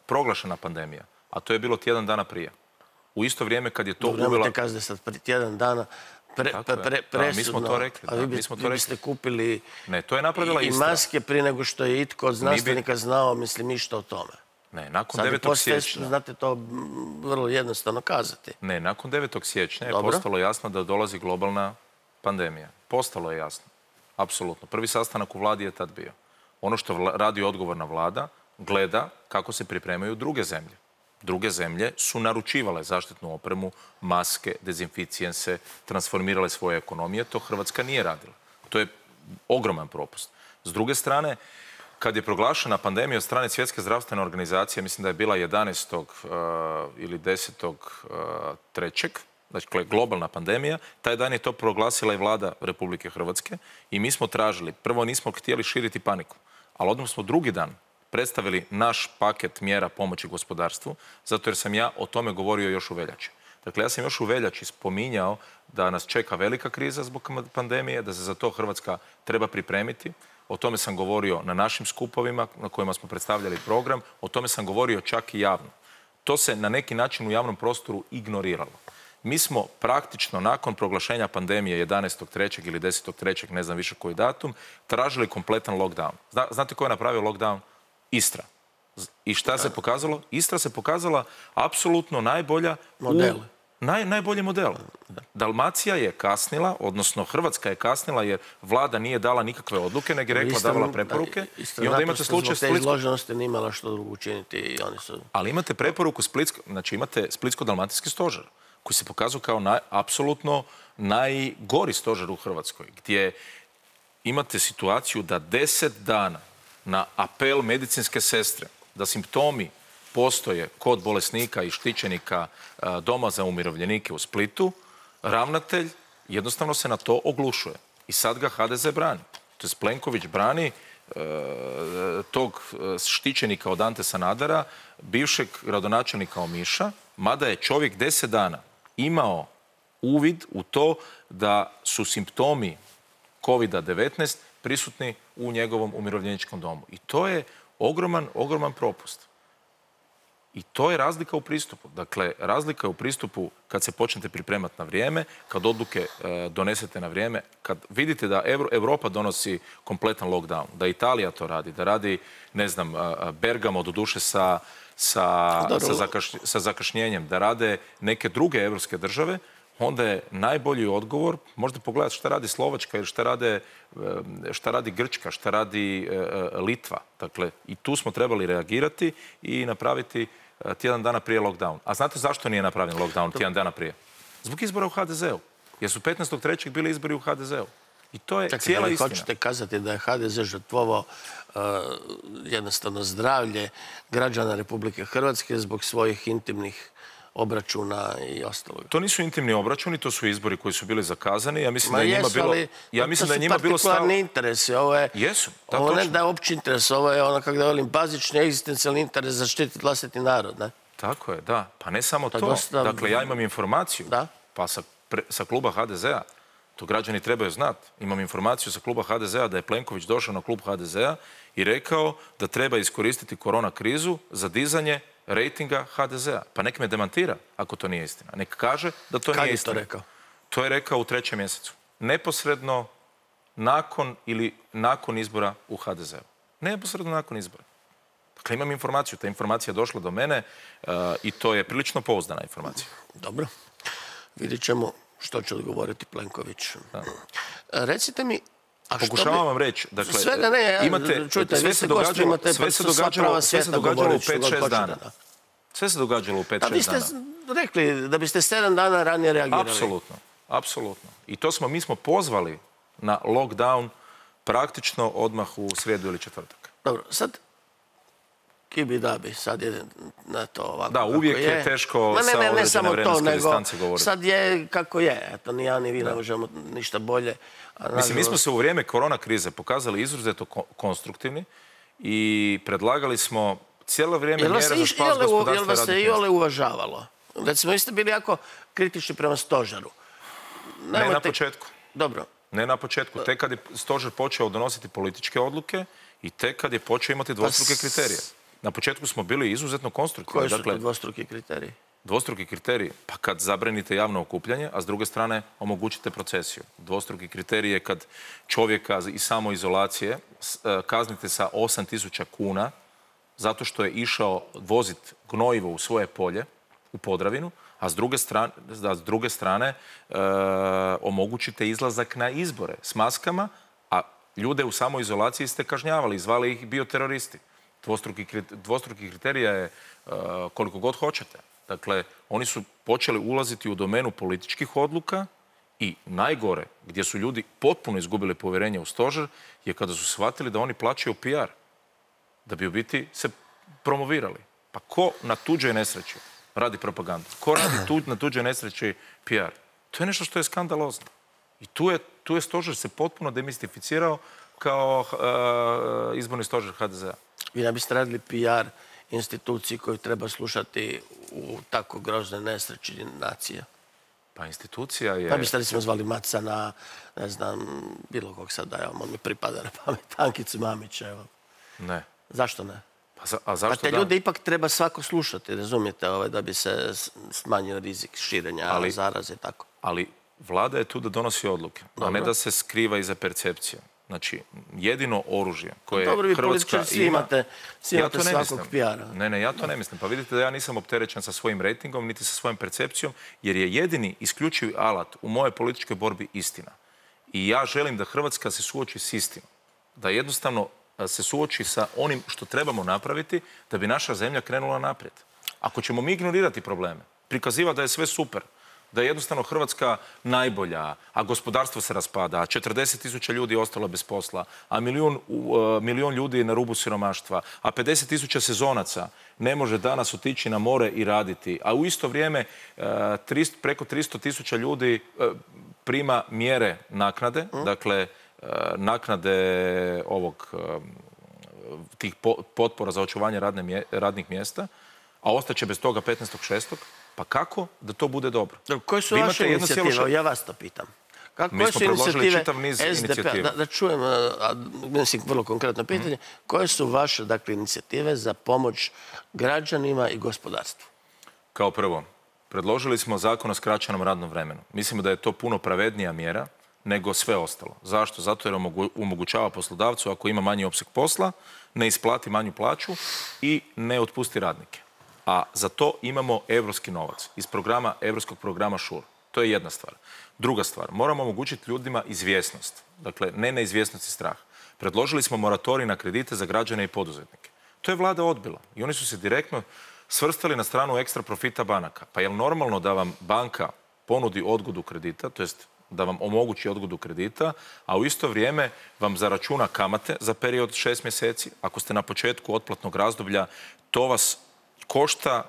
proglašena pandemija. A to je bilo tjedan dana prije. U isto vrijeme kad je to uvela... Nemojte kazati da sad prije tjedan dana presudno. Mi smo to rekli. A vi biste kupili i maske prije nego što je itko od znanstvenika znao, mislim, ništa o tome. Ne, nakon 9. siječnja... Znate to vrlo jednostavno kazati. Ne, nakon 9. siječnja je postalo jasno da dolazi globalna pandemija. Postalo je jasno. Apsolutno. Prvi sastanak u vladi je tad bio. Ono što radi odgovorna vlada, gleda kako se pripremaju druge zemlje. Druge zemlje su naručivale zaštitnu opremu, maske, dezinficijense, transformirale svoje ekonomije. To Hrvatska nije radila. To je ogroman propust. S druge strane, kad je proglašena pandemija od strane Svjetske zdravstvene organizacije, mislim da je bila 11. ili 10.3., dakle globalna pandemija, taj dan je to proglasila i vlada Republike Hrvatske i mi smo tražili, prvo nismo htjeli širiti paniku, ali odmah smo drugi dan predstavili naš paket mjera pomoći gospodarstvu, zato jer sam ja o tome govorio još u veljači. Dakle, ja sam još u veljači spominjao da nas čeka velika kriza zbog pandemije, da se za to Hrvatska treba pripremiti. O tome sam govorio na našim skupovima na kojima smo predstavljali program, o tome sam govorio čak i javno. To se na neki način u javnom prostoru ignoriralo. Mi smo praktično nakon proglašenja pandemije 11.3. ili 10.3., ne znam više koji datum, tražili kompletan lockdown. Znate ko je napravio lockdown? Istra. I šta se pokazalo? Istra se pokazala apsolutno najbolja najbolji model. Dalmacija je kasnila, odnosno Hrvatska je kasnila jer vlada nije dala nikakve odluke, nego je rekla davala preporuke. I onda imate slučaj Splitsko. Te izloženosti nije imala što drugo učiniti i oni su... Ali imate preporuku znači imate Splitsko-dalmatinski stožer koji se pokazao kao apsolutno najgori stožer u Hrvatskoj, gdje imate situaciju da 10 dana na apel medicinske sestre da simptomi postoje kod bolesnika i štićenika doma za umirovljenike u Splitu, ravnatelj jednostavno se na to oglušuje. I sad ga HDZ brani. To je Plenković brani tog štićenika od Ante Sanadera, bivšeg gradonačelnika Omiša, mada je čovjek 10 dana imao uvid u to da su simptomi COVID-19 prisutni u njegovom umirovljeničkom domu. I to je ogroman propust. I to je razlika u pristupu. Dakle, razlika je u pristupu kad se počnete pripremati na vrijeme, kad odluke donesete na vrijeme, kad vidite da Europa donosi kompletan lockdown, da Italija to radi, da radi, ne znam, Bergamo doduše sa zakašnjenjem, da rade neke druge evropske države, onda je najbolji odgovor, možda pogledati šta radi Slovačka ili šta radi Grčka, šta radi Litva. Dakle, i tu smo trebali reagirati i napraviti tjedan dana prije lockdown. A znate zašto nije napravljen lockdown tjedan dana prije? Zbog izbora u HDZ-u. Jer su 15.3. bili izbori u HDZ-u. I to je cijela istina. Hoćete kazati da je HDZ žrtvovao jednostavno zdravlje građana Republike Hrvatske zbog svojih intimnih obračuna i ostalog. To nisu intimni obračuni, to su izbori koji su bili zakazani. Ja mislim da je njima bilo... To su partikularni interesi. Jesu. Ovo ne da je opći interes, ovo je ono, kako da volim, bazični egzistencijalni interes zaštititi vlastiti narod, ne? Tako je, da. Pa ne samo to. Dakle, ja imam informaciju. Pa sa kluba HDZ-a, to građani trebaju znati. Imam informaciju sa kluba HDZ-a da je Plenković došao na klub HDZ-a i rekao da treba iskoristiti korona krizu za dizanje rejtinga HDZ-a. Pa nek me demantira ako to nije istina. Nek kaže da to nije istina. Kad je to rekao? To je rekao u 3. mjesecu. Neposredno nakon izbora u HDZ-u. Neposredno nakon izbora. Dakle, imam informaciju, ta informacija je došla do mene i to je prilično pouzdana informacija. Dobro. Vidjet ćemo što će odgovoriti Plenković. Recite mi, pokušavam vam reći, dakle, svega ne, čujte, sve se događalo u 5-6 dana. Sve se događalo u 5-6 dana. Vi ste rekli da biste 7 dana ranije reagirali. Apsolutno, apsolutno. I mi smo pozvali na lockdown praktično odmah u srijedu ili četvrtak. Dobro, sad kibi dabi, sad je na to ovako. Da, uvijek je teško sa određene vremenske distance govoriti. Sad je kako je, eto, ni ja ni vi ne možemo ništa bolje. Mislim, mi smo se u vrijeme korona krize pokazali izuzetno konstruktivni i predlagali smo cijelo vrijeme mjere za spas gospodarstva i radnih mjesta. Jel vas se i ole uvažavalo? Recimo, vi ste bili jako kritični prema stožeru. Ne na početku. Dobro. Ne na početku. Tek kad je stožer počeo donositi političke odluke i tek kad je počeo imati dvostruke kriterije. Na početku smo bili izuzetno konstruktivni. Koji su to dvostruki kriteriji? Dvostruki kriteriji? Pa kad zabranite javno okupljanje, a s druge strane omogućite procesiju. Dvostruki kriterij je kad čovjeka iz samoizolacije kaznite sa 8.000 kuna zato što je išao voziti gnojivo u svoje polje, u Podravinu, a s druge strane omogućite izlazak na izbore s maskama, a ljude u samoizolaciji ste kažnjavali, zvali ih bioteroristi. Dvostruki kriterija je koliko god hoćete. Dakle, oni su počeli ulaziti u domenu političkih odluka i najgore, gdje su ljudi potpuno izgubili povjerenje u stožer, je kada su shvatili da oni plaćaju PR, da bi u biti se promovirali. Pa ko na tuđoj nesreći radi propagandu? Ko radi na tuđoj nesreći PR? To je nešto što je skandalozno. I tu je stožer se potpuno demistificirao kao izborni stožer HDZ-a. Vi ne biste radili PR instituciji koju treba slušati u tako groznoj nesreći nacija? Pa institucija je... Pa biste li smo zvali Macana, ne znam, bilo kog sad dajem, on mi pripada na pamet, Ankicu Mamića, evo. Ne. Zašto ne? A zašto te ljude ipak treba svako slušati, razumijete, da bi se smanjio rizik širenja zaraze i tako. Ali vlada je tu da donosi odluke, a ne da se skriva iza percepcije. Znači, jedino oružje koje Hrvatska ima... Svi imate svakog PR-a. Ne, ja to ne mislim. Pa vidite da ja nisam opterećen sa svojim rejtingom, niti sa svojom percepcijom, jer je jedini isključivi alat u mojoj političkoj borbi istina. I ja želim da Hrvatska se suoči s istinom. Da jednostavno se suoči sa onim što trebamo napraviti da bi naša zemlja krenula naprijed. Ako ćemo mi ignorirati probleme, prikazivati da je sve super, da je jednostavno Hrvatska najbolja, a gospodarstvo se raspada, a 40.000 ljudi je ostalo bez posla, a milijun ljudi je na rubu siromaštva, a 50.000 sezonaca ne može danas otići na more i raditi, a u isto vrijeme preko 300.000 ljudi prima mjere naknade, dakle naknade tih potpora za očuvanje radnih mjesta, a ostaće bez toga 15.6. Pa kako da to bude dobro? Koje su vaše inicijative? Ja vas to pitam. Mi smo predložili čitav niz inicijativa. Da čujem, mislim, vrlo konkretno pitanje. Koje su vaše, dakle, inicijative za pomoć građanima i gospodarstvu? Kao prvo, predložili smo zakon o skraćenom radnom vremenu. Mislimo da je to puno pravednija mjera nego sve ostalo. Zašto? Zato jer omogućava poslodavcu, ako ima manji opseg posla, ne isplati manju plaću i ne otpusti radnike. A za to imamo evropski novac iz evropskog programa SURE. To je jedna stvar. Druga stvar, moramo omogućiti ljudima izvjesnost. Dakle, ne neizvjesnost i strah. Predložili smo moratorij na kredite za građane i poduzetnike. To je vlada odbila i oni su se direktno svrstali na stranu ekstra profita banaka. Pa je li normalno da vam banka ponudi odgodu kredita, to jest da vam omogući odgodu kredita, a u isto vrijeme vam zaračuna kamate za period 6 mjeseci. Ako ste na početku otplatnog razdoblja, to vas košta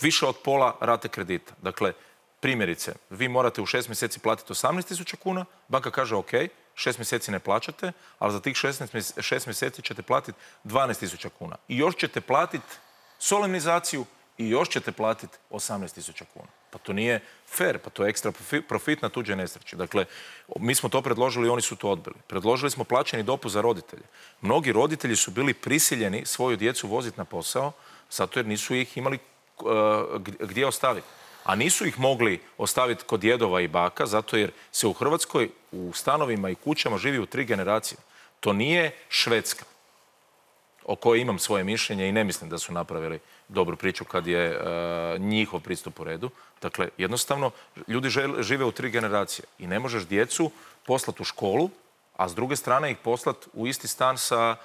više od pola rate kredita. Dakle, primjerice, vi morate u 6 mjeseci platiti 18.000 kuna, banka kaže ok, 6 mjeseci ne plaćate, ali za tih 6 mjeseci ćete platiti 12.000 kuna. I još ćete platiti solemnizaciju i još ćete platiti 18.000 kuna. Pa to nije fair, pa to je ekstra profit na tuđe nesreći. Dakle, mi smo to predložili i oni su to odbili. Predložili smo plaćeni dopust za roditelje. Mnogi roditelji su bili prisiljeni svoju djecu voziti na posao zato jer nisu ih imali gdje ostaviti. A nisu ih mogli ostaviti kod djedova i baka zato jer se u Hrvatskoj u stanovima i kućama živi u 3 generacije. To nije Švedska. o kojoj imam svoje mišljenje i ne mislim da su napravili dobru priču kad je njihov pristup u redu. Dakle, jednostavno, ljudi žive u 3 generacije i ne možeš djecu poslati u školu, a s druge strane ih poslati u isti stan sa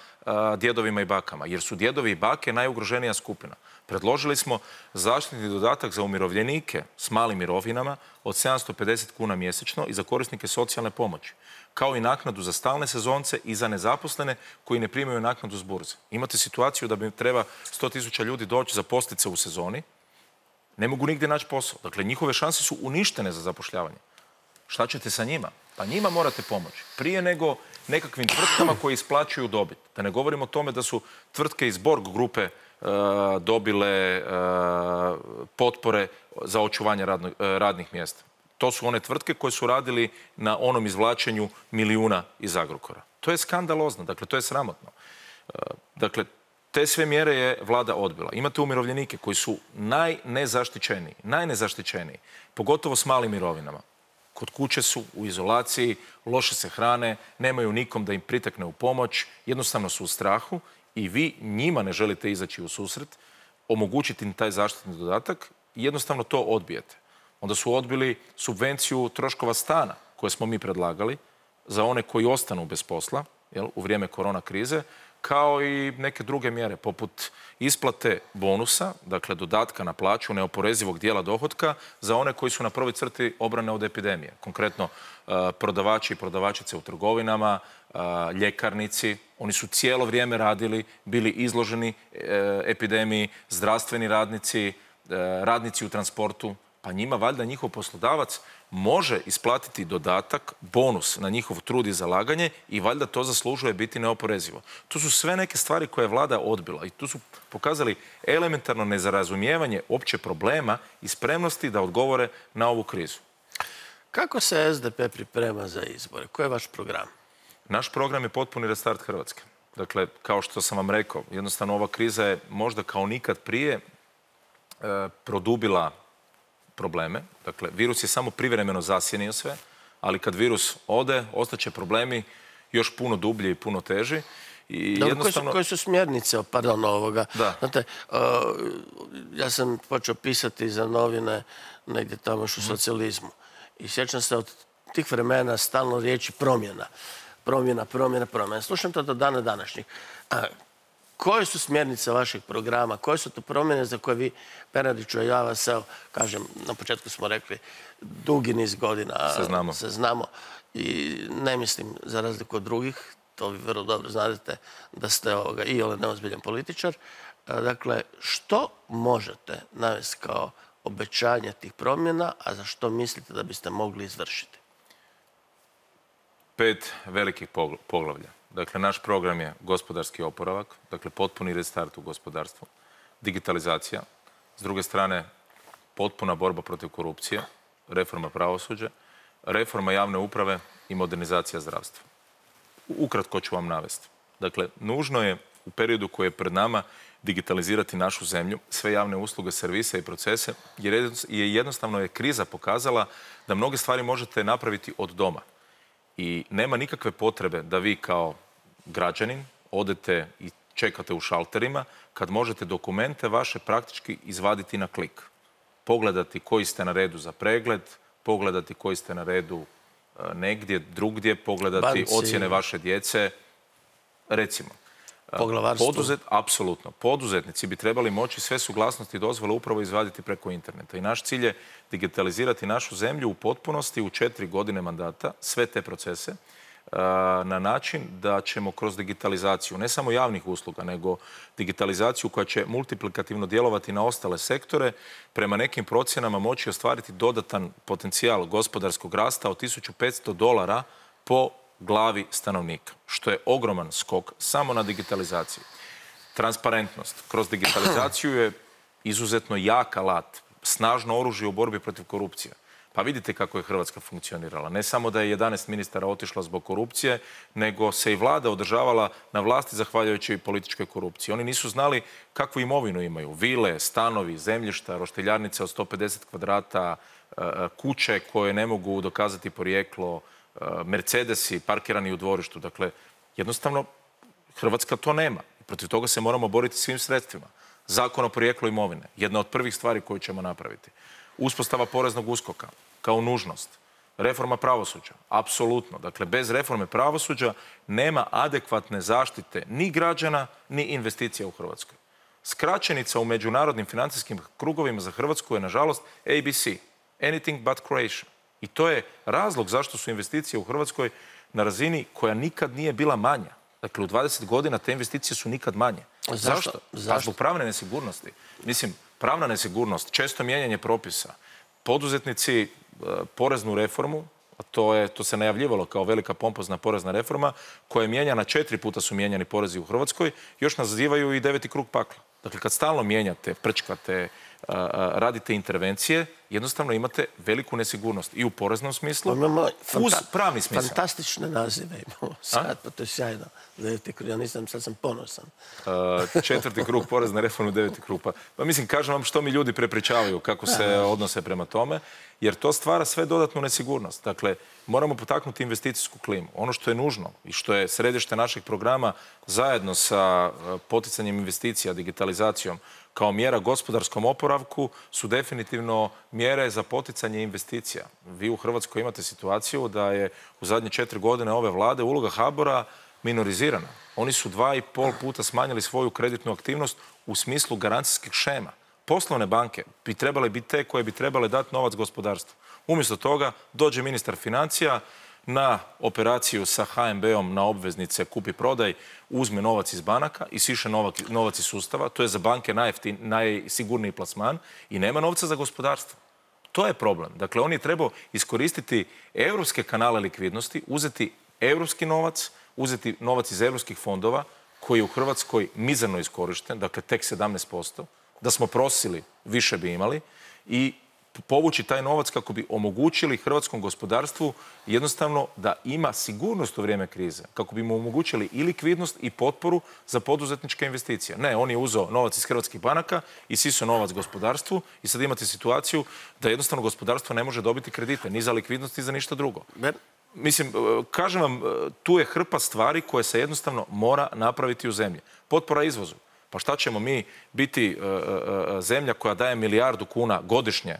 djedovima i bakama, jer su djedovi i bake najugroženija skupina. Predložili smo zaštitni dodatak za umirovljenike s malim mirovinama od 750 kuna mjesečno i za korisnike socijalne pomoći, kao i naknadu za stalne sezonce i za nezaposlene koji ne primaju naknadu s burze. Imate situaciju da bi treba 100.000 ljudi doći zaposliti se u sezoni, ne mogu nigdje naći posao. Dakle, njihove šanse su uništene za zapošljavanje. Šta ćete sa njima? Pa njima morate pomoći. Prije nego nekakvim tvrtkama koji isplaćuju dobit. Da ne govorimo o tome da su tvrtke iz Borg grupe dobile potpore za očuvanje radnih mjesta. To su one tvrtke koje su radili na onom izvlačenju milijuna iz Agrokora. To je skandalozno, dakle to je sramotno. Dakle, te sve mjere je vlada odbila. Imate umirovljenike koji su najnezaštićeniji, pogotovo s malim mirovinama. Kod kuće su u izolaciji, loše se hrane, nemaju nikom da im pritekne u pomoć, jednostavno su u strahu i vi njima ne želite izaći u susret, omogućiti im taj zaštitni dodatak i jednostavno to odbijete. Onda su odbili subvenciju troškova stana koje smo mi predlagali za one koji ostanu bez posla u vrijeme korona krize, kao i neke druge mjere poput isplate bonusa, dakle dodatka na plaću neoporezivog dijela dohotka za one koji su na prvoj crti obrane od epidemije. Konkretno prodavači i prodavačice u trgovinama, ljekarnici, oni su cijelo vrijeme radili, bili izloženi epidemiji, zdravstveni radnici, radnici u transportu, pa njima valjda njihov poslodavac može isplatiti dodatak, bonus na njihov trud i zalaganje i valjda to zaslužuje biti neoporezivo. To su sve neke stvari koje je vlada odbila i tu su pokazali elementarno nezarazumijevanje opće problema i spremnosti da odgovore na ovu krizu. Kako se SDP priprema za izbore? Koji je vaš program? Naš program je potpuni restart Hrvatske. Dakle, kao što sam vam rekao, jednostavno ova kriza je možda kao nikad prije produbila probleme. Dakle, virus je samo privremeno zasjenio sve, ali kad virus ode, ostaće problemi još puno dublji i puno teži. I jednostavno... Koje su smjernice, ovoga? Da. Znate, ja sam počeo pisati za novine negdje tamo u socijalizmu. I sjećam se od tih vremena stalno riječi promjena. Promjena. Slušam to do dana današnjih. Koje su smjernice vašeg programa? Koje su to promjene za koje vi, Bernardiću, a ja vas, kažem, na početku smo rekli, dugi niz godina se znamo i ne mislim, za razliku od drugih, to vi vrlo dobro znate da ste iole neozbiljan političar. Dakle, što možete navesti kao obećanje tih promjena, a za što mislite da biste mogli izvršiti? 5 velikih poglavlja. Dakle, naš program je gospodarski oporavak, dakle potpuni restart u gospodarstvu, digitalizacija, s druge strane potpuna borba protiv korupcije, reforma pravosuđa, reforma javne uprave i modernizacija zdravstva. Ukratko ću vam navesti. Dakle, nužno je u periodu koji je pred nama digitalizirati našu zemlju, sve javne usluge, servise i procese, jer jednostavno je kriza pokazala da mnoge stvari možete napraviti od doma. I nema nikakve potrebe da vi kao građanin odete i čekate u šalterima kad možete dokumente vaše praktički izvaditi na klik. Pogledati koji ste na redu za pregled, pogledati koji ste na redu negdje drugdje, pogledati ocjene vaše djece, recimo. Poglavarstvo. Apsolutno. Poduzetnici bi trebali moći sve suglasnosti i dozvole upravo izvaditi preko interneta. I naš cilj je digitalizirati našu zemlju u potpunosti u 4 godine mandata, sve te procese, na način da ćemo kroz digitalizaciju ne samo javnih usluga, nego digitalizaciju koja će multiplikativno djelovati na ostale sektore, prema nekim procjenama moći ostvariti dodatan potencijal gospodarskog rasta od $1.500 po glavi stanovnika, što je ogroman skok samo na digitalizaciji. Transparentnost kroz digitalizaciju je izuzetno jak alat, snažno oružje u borbi protiv korupcije. Pa vidite kako je Hrvatska funkcionirala. Ne samo da je 11 ministara otišlo zbog korupcije, nego se i vlada održavala na vlasti zahvaljujući političkoj korupciji. Oni nisu znali kakvu imovinu imaju. Vile, stanovi, zemljišta, roštiljarnice od 150 kvadrata, kuće koje ne mogu dokazati porijeklo, Mercedesi parkirani u dvorištu. Dakle, jednostavno Hrvatska to nema. Protiv toga se moramo boriti svim sredstvima. Zakon o porijeklu imovine, jedna od prvih stvari koju ćemo napraviti. Uspostava poreznog USKOK-a kao nužnost. Reforma pravosuđa, apsolutno. Dakle, bez reforme pravosuđa nema adekvatne zaštite ni građana, ni investicija u Hrvatskoj. Skraćenica u međunarodnim financijskim krugovima za Hrvatsku je, nažalost, ABC. Anything but Croatia. I to je razlog zašto su investicije u Hrvatskoj na razini koja nikad nije bila manja. Dakle, u 20 godina te investicije su nikad manje. Zašto? Pa zbog pravne nesigurnosti. Mislim, pravna nesigurnost, često mijenjanje propisa, poduzetnici poreznu reformu, a to se najavljivalo kao velika pompozna porezna reforma, koja je mijenjana 4 puta su mijenjani porezi u Hrvatskoj, još nazivaju i 9. krug pakla. Dakle, kad stalno mijenjate, prčkate, radite intervencije, jednostavno imate veliku nesigurnost i u poreznom smislu, uz pravni smisao. Fantastične nazive imamo sad, pa to je sjajno. 9. krug, ja nisam, sad sam ponosan. 4. krug porezne reforme, 9. krug. Pa mislim, kažem vam što mi ljudi prepričavaju, kako se odnose prema tome, jer to stvara sve dodatnu nesigurnost. Dakle, moramo potaknuti investicijsku klimu. Ono što je nužno i što je središte našeg programa zajedno sa poticanjem investicija, digitalizacijom, kao mjera gospodarskom oporavku su definitivno mjere za poticanje investicija. Vi u Hrvatskoj imate situaciju da je u zadnje 4 godine ove vlade uloga HBOR-a minorizirana. Oni su 2,5 puta smanjili svoju kreditnu aktivnost u smislu garancijskih šema. Poslovne banke bi trebale biti te koje bi trebale dati novac gospodarstvu. Umjesto toga dođe ministar financija na operaciju sa HNB-om na obveznice kupi-prodaj, uzme novac iz banaka i siše novac iz sustava. To je za banke najsigurniji plasman i nema novca za gospodarstvo. To je problem. Dakle, on je trebao iskoristiti europske kanale likvidnosti, uzeti europski novac, uzeti novac iz europskih fondova koji je u Hrvatskoj mizerno iskorišten, dakle tek 17%. Da smo prosili, više bi imali i povući taj novac kako bi omogućili hrvatskom gospodarstvu jednostavno da ima sigurnost u vrijeme krize, kako bi mu omogućili i likvidnost i potporu za poduzetničke investicije. Ne, on je uzeo novac iz hrvatskih banaka i sisao novac gospodarstvu i sad imate situaciju da jednostavno gospodarstvo ne može dobiti kredite, ni za likvidnost, ni za ništa drugo. Mislim, kažem vam, tu je hrpa stvari koje se jednostavno mora napraviti u zemlji. Potpora izvozu. Pa šta ćemo mi biti zemlja koja daje 1 milijardu kuna godišnje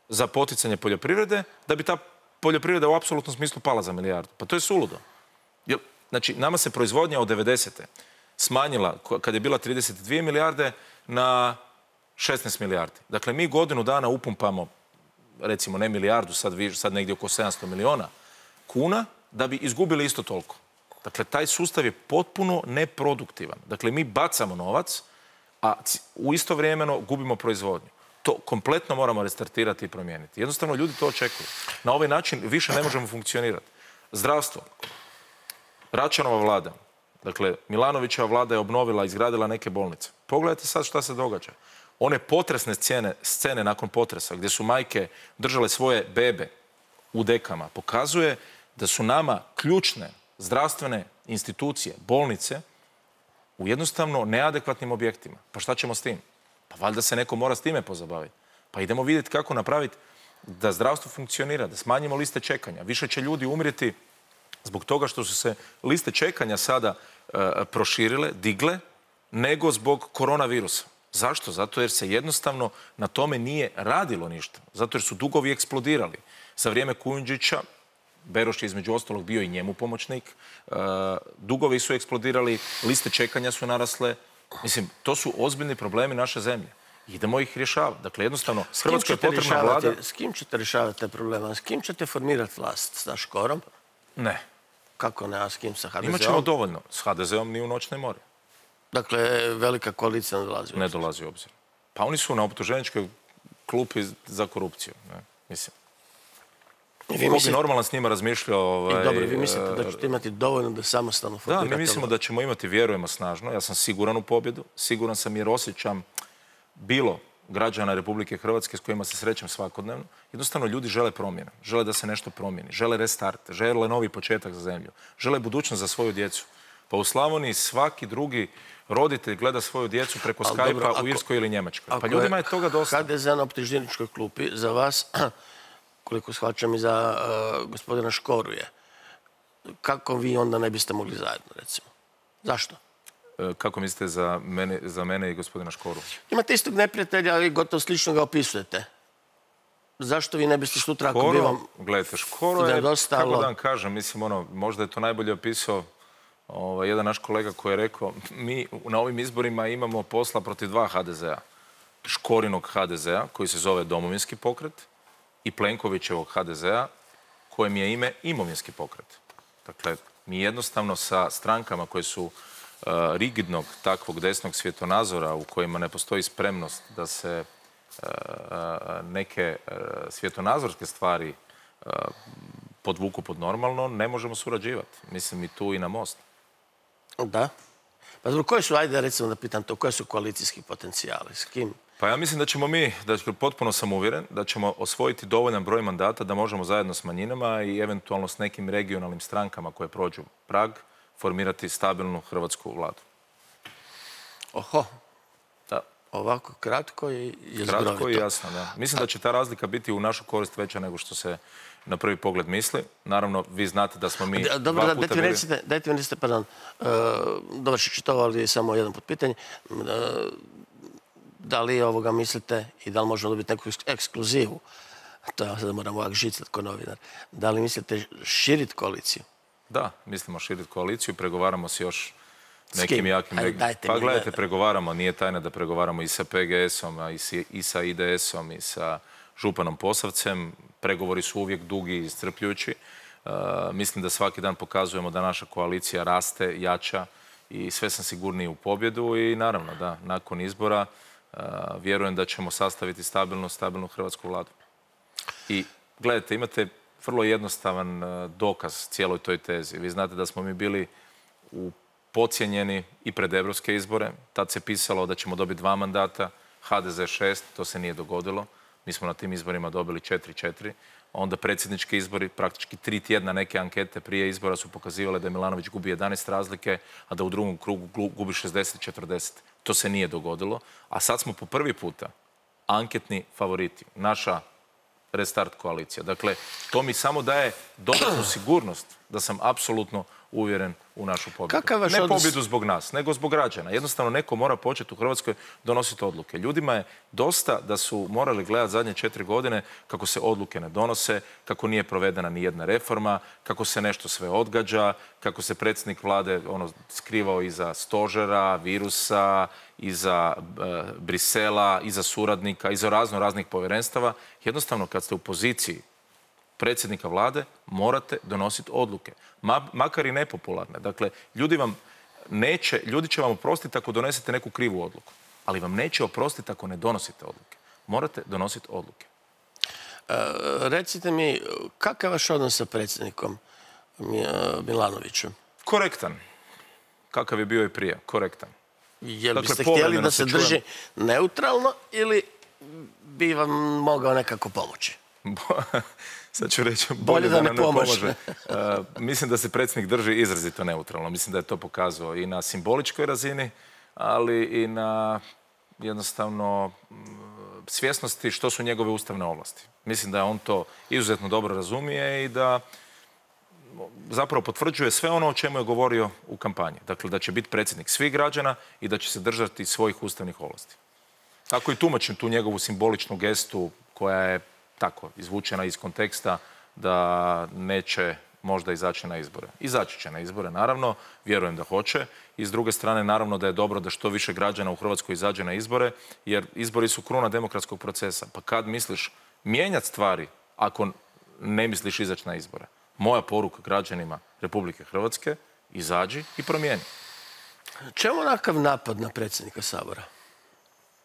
za poticanje poljoprivrede, da bi ta poljoprivreda u apsolutnom smislu pala za 1 milijardu. Pa to je suludo. Znači, nama se proizvodnja od 90. smanjila, kad je bila 32 milijarde, na 16 milijardi. Dakle, mi godinu dana upumpamo, recimo ne milijardu, sad negdje oko 700 miliona kuna, da bi izgubili isto toliko. Dakle, taj sustav je potpuno neproduktivan. Dakle, mi bacamo novac, a u isto vremeno gubimo proizvodnju. To kompletno moramo restartirati i promijeniti. Jednostavno, ljudi to očekuju. Na ovaj način više ne možemo funkcionirati. Zdravstvo. Račanova vlada, dakle, Milanovićeva vlada je obnovila, izgradila neke bolnice. Pogledajte sad šta se događa. One potresne scene nakon potresa, gdje su majke držale svoje bebe u dekama, pokazuje da su nama ključne zdravstvene institucije, bolnice, u jednostavno neadekvatnim objektima. Pa šta ćemo s tim? Pa valjda se neko mora s time pozabaviti. Pa idemo vidjeti kako napraviti da zdravstvo funkcionira, da smanjimo liste čekanja. Više će ljudi umrijeti zbog toga što su se liste čekanja sada proširile, digle, nego zbog koronavirusa. Zašto? Zato jer se jednostavno na tome nije radilo ništa. Zato jer su dugovi eksplodirali. Za vrijeme Kujundžića, Beroš je između ostalog bio i njemu pomoćnik, dugovi su eksplodirali, liste čekanja su narasle. Mislim, to su ozbiljni problemi naše zemlje. Idemo ih rješavati. Dakle, jednostavno, Hrvatskoj je potrebna vlada... S kim ćete rješavati te probleme? S kim ćete formirati vlast? Sa Škorom? Ne. Kako ne, a s kim? Sa HDZ-om? Imat ćemo dovoljno. S HDZ-om ni u noć ne more. Dakle, velika koalicija ne dolazi u obzir? Ne dolazi u obzir. Pa oni su na optuženičkoj klupi za korupciju. Mislim. Ko bi normalno s njima razmišljao... Dobro, vi mislite da ćete imati dovoljno da samostalno formirate? Da, mi mislimo da ćemo imati, vjerujemo snažno. Ja sam siguran u pobjedu. Siguran sam jer osjećam bilo građana Republike Hrvatske s kojima se srećem svakodnevno. Jednostavno, ljudi žele promjene. Žele da se nešto promijeni. Žele restart. Žele novi početak za zemlju. Žele budućnost za svoju djecu. Pa u Slavoniji svaki drugi roditelj gleda svoju djecu preko Skype-a u Irskoj ili Njemačkoj. Pa ljudima je toga dosta. HDZ na optuženičkoj klupi za vas... koliko shvaćam i za gospodina Škoru je. Kako vi onda ne biste mogli zajedno, recimo? Zašto? Kako mislite za mene i gospodina Škoru? Imate istog neprijatelja, ali gotovo slično ga opisujete. Zašto vi ne biste sutra, ako bi vam... Gledajte, Škoro je, kako da vam kažem, mislim, možda je to najbolje opisao jedan naš kolega koji je rekao, mi na ovim izborima imamo posla protiv dva HDZ-a. Škorinog HDZ-a, koji se zove Domovinski pokret, i Plenkovićevog HDZ-a, kojem je ime Imovinski pokret. Dakle, mi jednostavno sa strankama koje su rigidnog takvog desnog svjetonazora, u kojima ne postoji spremnost da se neke svjetonazorske stvari podvuku pod normalno, ne možemo surađivati. Mislim i tu i na Most. Da. Pa zbog koje su, ajde recimo da pitam to, koje su koalicijski potencijali? S kim? Pa ja mislim da ćemo mi, potpuno sam uvjeren, da ćemo osvojiti dovoljan broj mandata da možemo zajedno s manjinama i eventualno s nekim regionalnim strankama koje prođu prag formirati stabilnu hrvatsku vladu. Oho. Da. Ovako kratko i zbrovito. Kratko i jasno, da. Mislim da će ta razlika biti u našu korist veća nego što se na prvi pogled misli. Naravno, vi znate da smo mi Dobro, dajte mi recite, pardon, dovršit ću to, ali samo jedan put pitanje. Da li ovoga mislite i da li možemo dobiti neku ekskluzivu? To ja sada moram ovak žicati ko novinar. Da li mislite širiti koaliciju? Da, mislimo širiti koaliciju, pregovaramo s još nekim jakim... Pa gledajte, pregovaramo, nije tajna da pregovaramo i sa PGS-om, i sa IDS-om, i sa županom Posavcem. Pregovori su uvijek dugi i iscrpljujući. Mislim da svaki dan pokazujemo da naša koalicija raste, jača i sve sam sigurniji u pobjedu i naravno da, nakon izbora vjerujem da ćemo sastaviti stabilnu hrvatsku vladu. I gledajte, imate vrlo jednostavan dokaz cijeloj toj tezi. Vi znate da smo mi bili podcijenjeni i pred evropske izbore. Tad se pisalo da ćemo dobiti 2 mandata, HDZ 6, to se nije dogodilo. Mi smo na tim izborima dobili 4-4. Onda predsjednički izbori, praktički 3 tjedna neke ankete prije izbora su pokazivale da Milanović gubi 11 razlike, a da u drugom krugu gubi 60-40. To se nije dogodilo. A sad smo po prvi puta anketni favoriti. Naša restart koalicija. Dakle, to mi samo daje dodatnu sigurnost da sam apsolutno uvjeren u našu pobjedu. Ne pobjedu zbog nas, nego zbog građana. Jednostavno, neko mora početi u Hrvatskoj donositi odluke. Ljudima je dosta da su morali gledati zadnje 4 godine kako se odluke ne donose, kako nije provedena ni jedna reforma, kako se nešto sve odgađa, kako se predsjednik vlade skrivao iza stožera, virusa, iza Brisela, iza suradnika, iza raznih povjerenstava. Jednostavno, kad ste u poziciji predsjednika vlade, morate donositi odluke. Makar i nepopularne. Dakle, ljudi će vam oprostiti ako donesete neku krivu odluku. Ali vam neće oprostiti ako ne donosite odluke. Morate donositi odluke. Recite mi, kakav je vaš odnos sa predsjednikom Milanovićem? Korektan. Kakav je bio i prije. Korektan. Jel biste htjeli da se drži neutralno ili bi vam mogao nekako pomoći? Sad ću reći, bolje da nam ne pomože. Mislim da se predsjednik drži izrazito neutralno. Mislim da je to pokazao i na simboličkoj razini, ali i na jednostavno svjesnosti što su njegove ustavne ovlasti. Mislim da on to izuzetno dobro razumije i da zapravo potvrđuje sve ono o čemu je govorio u kampanji. Dakle, da će biti predsjednik svih građana i da će se držati svojih ustavnih ovlasti. Tako i tumačim tu njegovu simboličnu gestu koja je tako izvučena iz konteksta da neće možda izaći na izbore. Izaći će na izbore, naravno, vjerujem da hoće. I s druge strane, naravno da je dobro da što više građana u Hrvatskoj izađe na izbore, jer izbori su kruna demokratskog procesa. Pa kad misliš mijenjati stvari ako ne misliš izaći na izbore? Moja poruka građanima Republike Hrvatske, izađi i promijeni. Čemu onakav napad na predsjednika Sabora?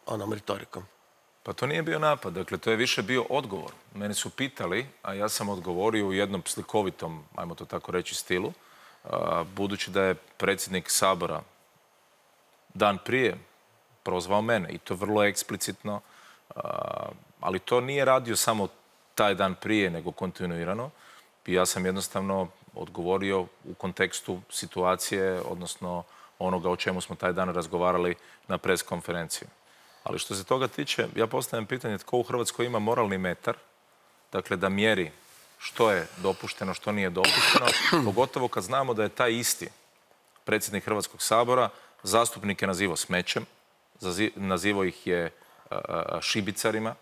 Onom retorikom. Pa to nije bio napad, dakle to je više bio odgovor. Mene su pitali, a ja sam odgovorio u jednom slikovitom, ajmo to tako reći, stilu, budući da je predsjednik Sabora dan prije prozvao mene i to vrlo eksplicitno, ali to nije radio samo taj dan prije, nego kontinuirano. I ja sam jednostavno odgovorio u kontekstu situacije, odnosno onoga o čemu smo taj dan razgovarali na pres konferenciji. Ali što se toga tiče, ja postavljam pitanje tko u Hrvatskoj ima moralni metar, dakle da mjeri što je dopušteno, što nije dopušteno, pogotovo kad znamo da je taj isti predsjednik Hrvatskog sabora zastupnike nazivao smećem, nazivao ih je šibicarima,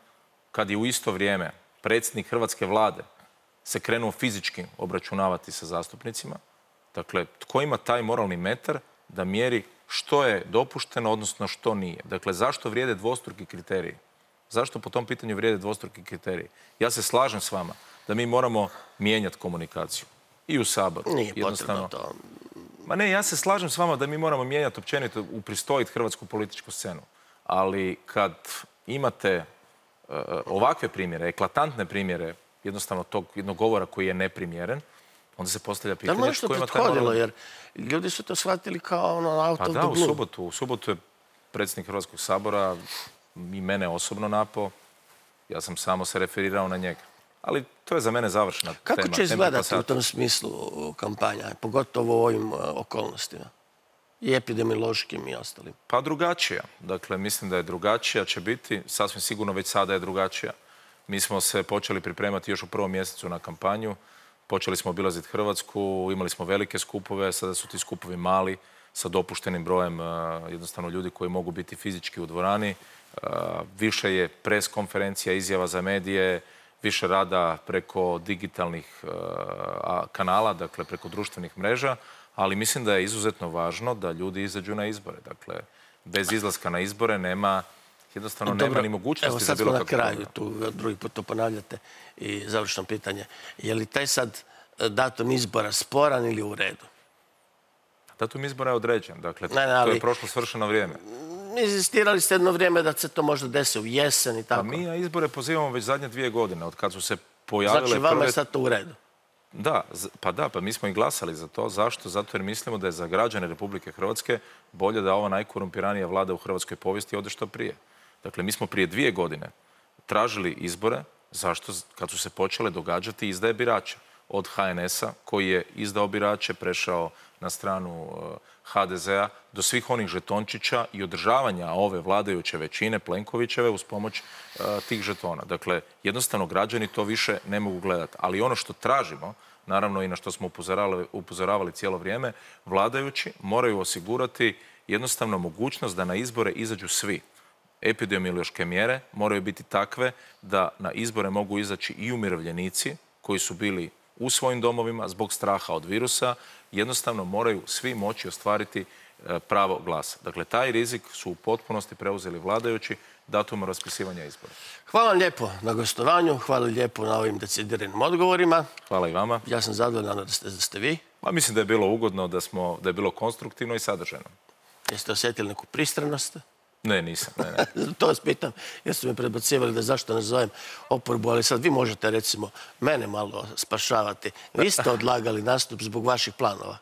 kad je u isto vrijeme predsjednik hrvatske vlade se krenuo fizički obračunavati sa zastupnicima. Dakle, tko ima taj moralni metar da mjeri što je dopušteno, odnosno što nije? Dakle, zašto vrijede dvostruki kriteriji? Zašto po tom pitanju vrijede dvostruki kriteriji? Ja se slažem s vama da mi moramo mijenjati komunikaciju. I u Saboru. Nije potrebno to. Ma ne, ja se slažem s vama da mi moramo mijenjati općenito, upristojiti hrvatsku političku scenu. Ali kad imate ovakve primjere, eklatantne primjere, jednostavno tog jednog govora koji je neprimjeren, onda se postavlja pitanje... Da li nešto prethodilo, jer ljudi su to shvatili kao ono out of the blue. Pa da, u subotu je predsjednik Hrvatskog sabora i mene osobno napao. Ja sam samo se referirao na njega. Ali to je za mene završena tema. Kako će izgledati u tom smislu kampanja, pogotovo u ovim okolnostima? I epidemiološkim i ostalim. Pa drugačija. Dakle, mislim da je drugačija, će biti. Sasvim sigurno već sada je drugačija. Mi smo se počeli pripremati još u prvom mjesecu na kampanju. Počeli smo obilaziti Hrvatsku, imali smo velike skupove, sada su ti skupovi mali, sa dopuštenim brojem jednostavno ljudi koji mogu biti fizički u dvorani. Više je pres konferencija, izjava za medije, više rada preko digitalnih kanala, dakle preko društvenih mreža, ali mislim da je izuzetno važno da ljudi izađu na izbore. Dakle, bez izlaska na izbore nema ni mogućnosti za bilo kako. Evo sad smo na kraju, tu drugi put to ponavljate i završno pitanje. Je li taj sad datum izbora sporan ili u redu? Datum izbora je određen, dakle, to je prošlo svršeno vrijeme. Inzistirali ste jedno vrijeme da se to možda desi u jesen i tako. Pa mi na izbore pozivamo već zadnje 2 godine, od kad su se pojavile... Znači, vama je sad to u redu? Da, pa mi smo i glasali za to. Zašto? Zato jer mislimo da je za građane Republike Hrvatske bolje da ova najkorumpiranija vlada u hrvatskoj povijesti ode što prije. Dakle, mi smo prije 2 godine tražili izbore. Zašto? Kad su se počele događati izdaje birača. Od HNS-a koji je izdao birače, prešao na stranu HDZ-a, do svih onih žetončića i održavanja ove vladajuće većine Plenkovićeve uz pomoć tih žetona. Dakle, jednostavno građani to više ne mogu gledati. Ali ono što tražimo, naravno i na što smo upozoravali cijelo vrijeme, vladajući moraju osigurati jednostavno mogućnost da na izbore izađu svi. Epidemiološke mjere moraju biti takve da na izbore mogu izaći i umirovljenici koji su bili u svojim domovima zbog straha od virusa, jednostavno moraju svi moći ostvariti pravo glasa. Dakle, taj rizik su u potpunosti preuzeli vladajući datumom raspisivanja izbora. Hvala vam lijepo na gostovanju, hvala lijepo na ovim decidiranim odgovorima. Hvala i vama. Ja sam zadovoljan da ste vi. Pa mislim da je bilo ugodno, da je bilo konstruktivno i sadržajno. Jeste osjetili neku pristranost? Ne, nisam. Ne. To vas pitam, jer su me predbacivali da zašto ne zovem oporbu, ali sad vi možete recimo mene malo spašavati. Vi ste odlagali nastup zbog vaših planova.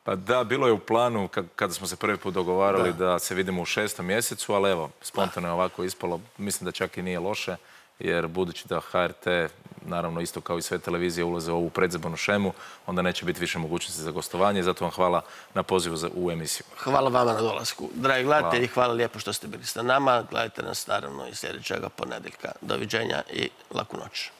Pa da, bilo je u planu kada smo se prvi put dogovarali da se vidimo u 6. mjesecu, ali evo, spontano je ovako ispalo. Mislim da čak i nije loše, jer budući da HRT, naravno isto kao i sve televizije, ulaze u ovu predizbornu šemu, onda neće biti više mogućnosti za gostovanje i zato vam hvala na pozivu u emisiju. Hvala vama na dolasku. Dragi gledatelji, hvala lijepo što ste bili sa nama. Gledajte nas naravno i sljedećega ponedjeljka. Doviđenja i laku noć.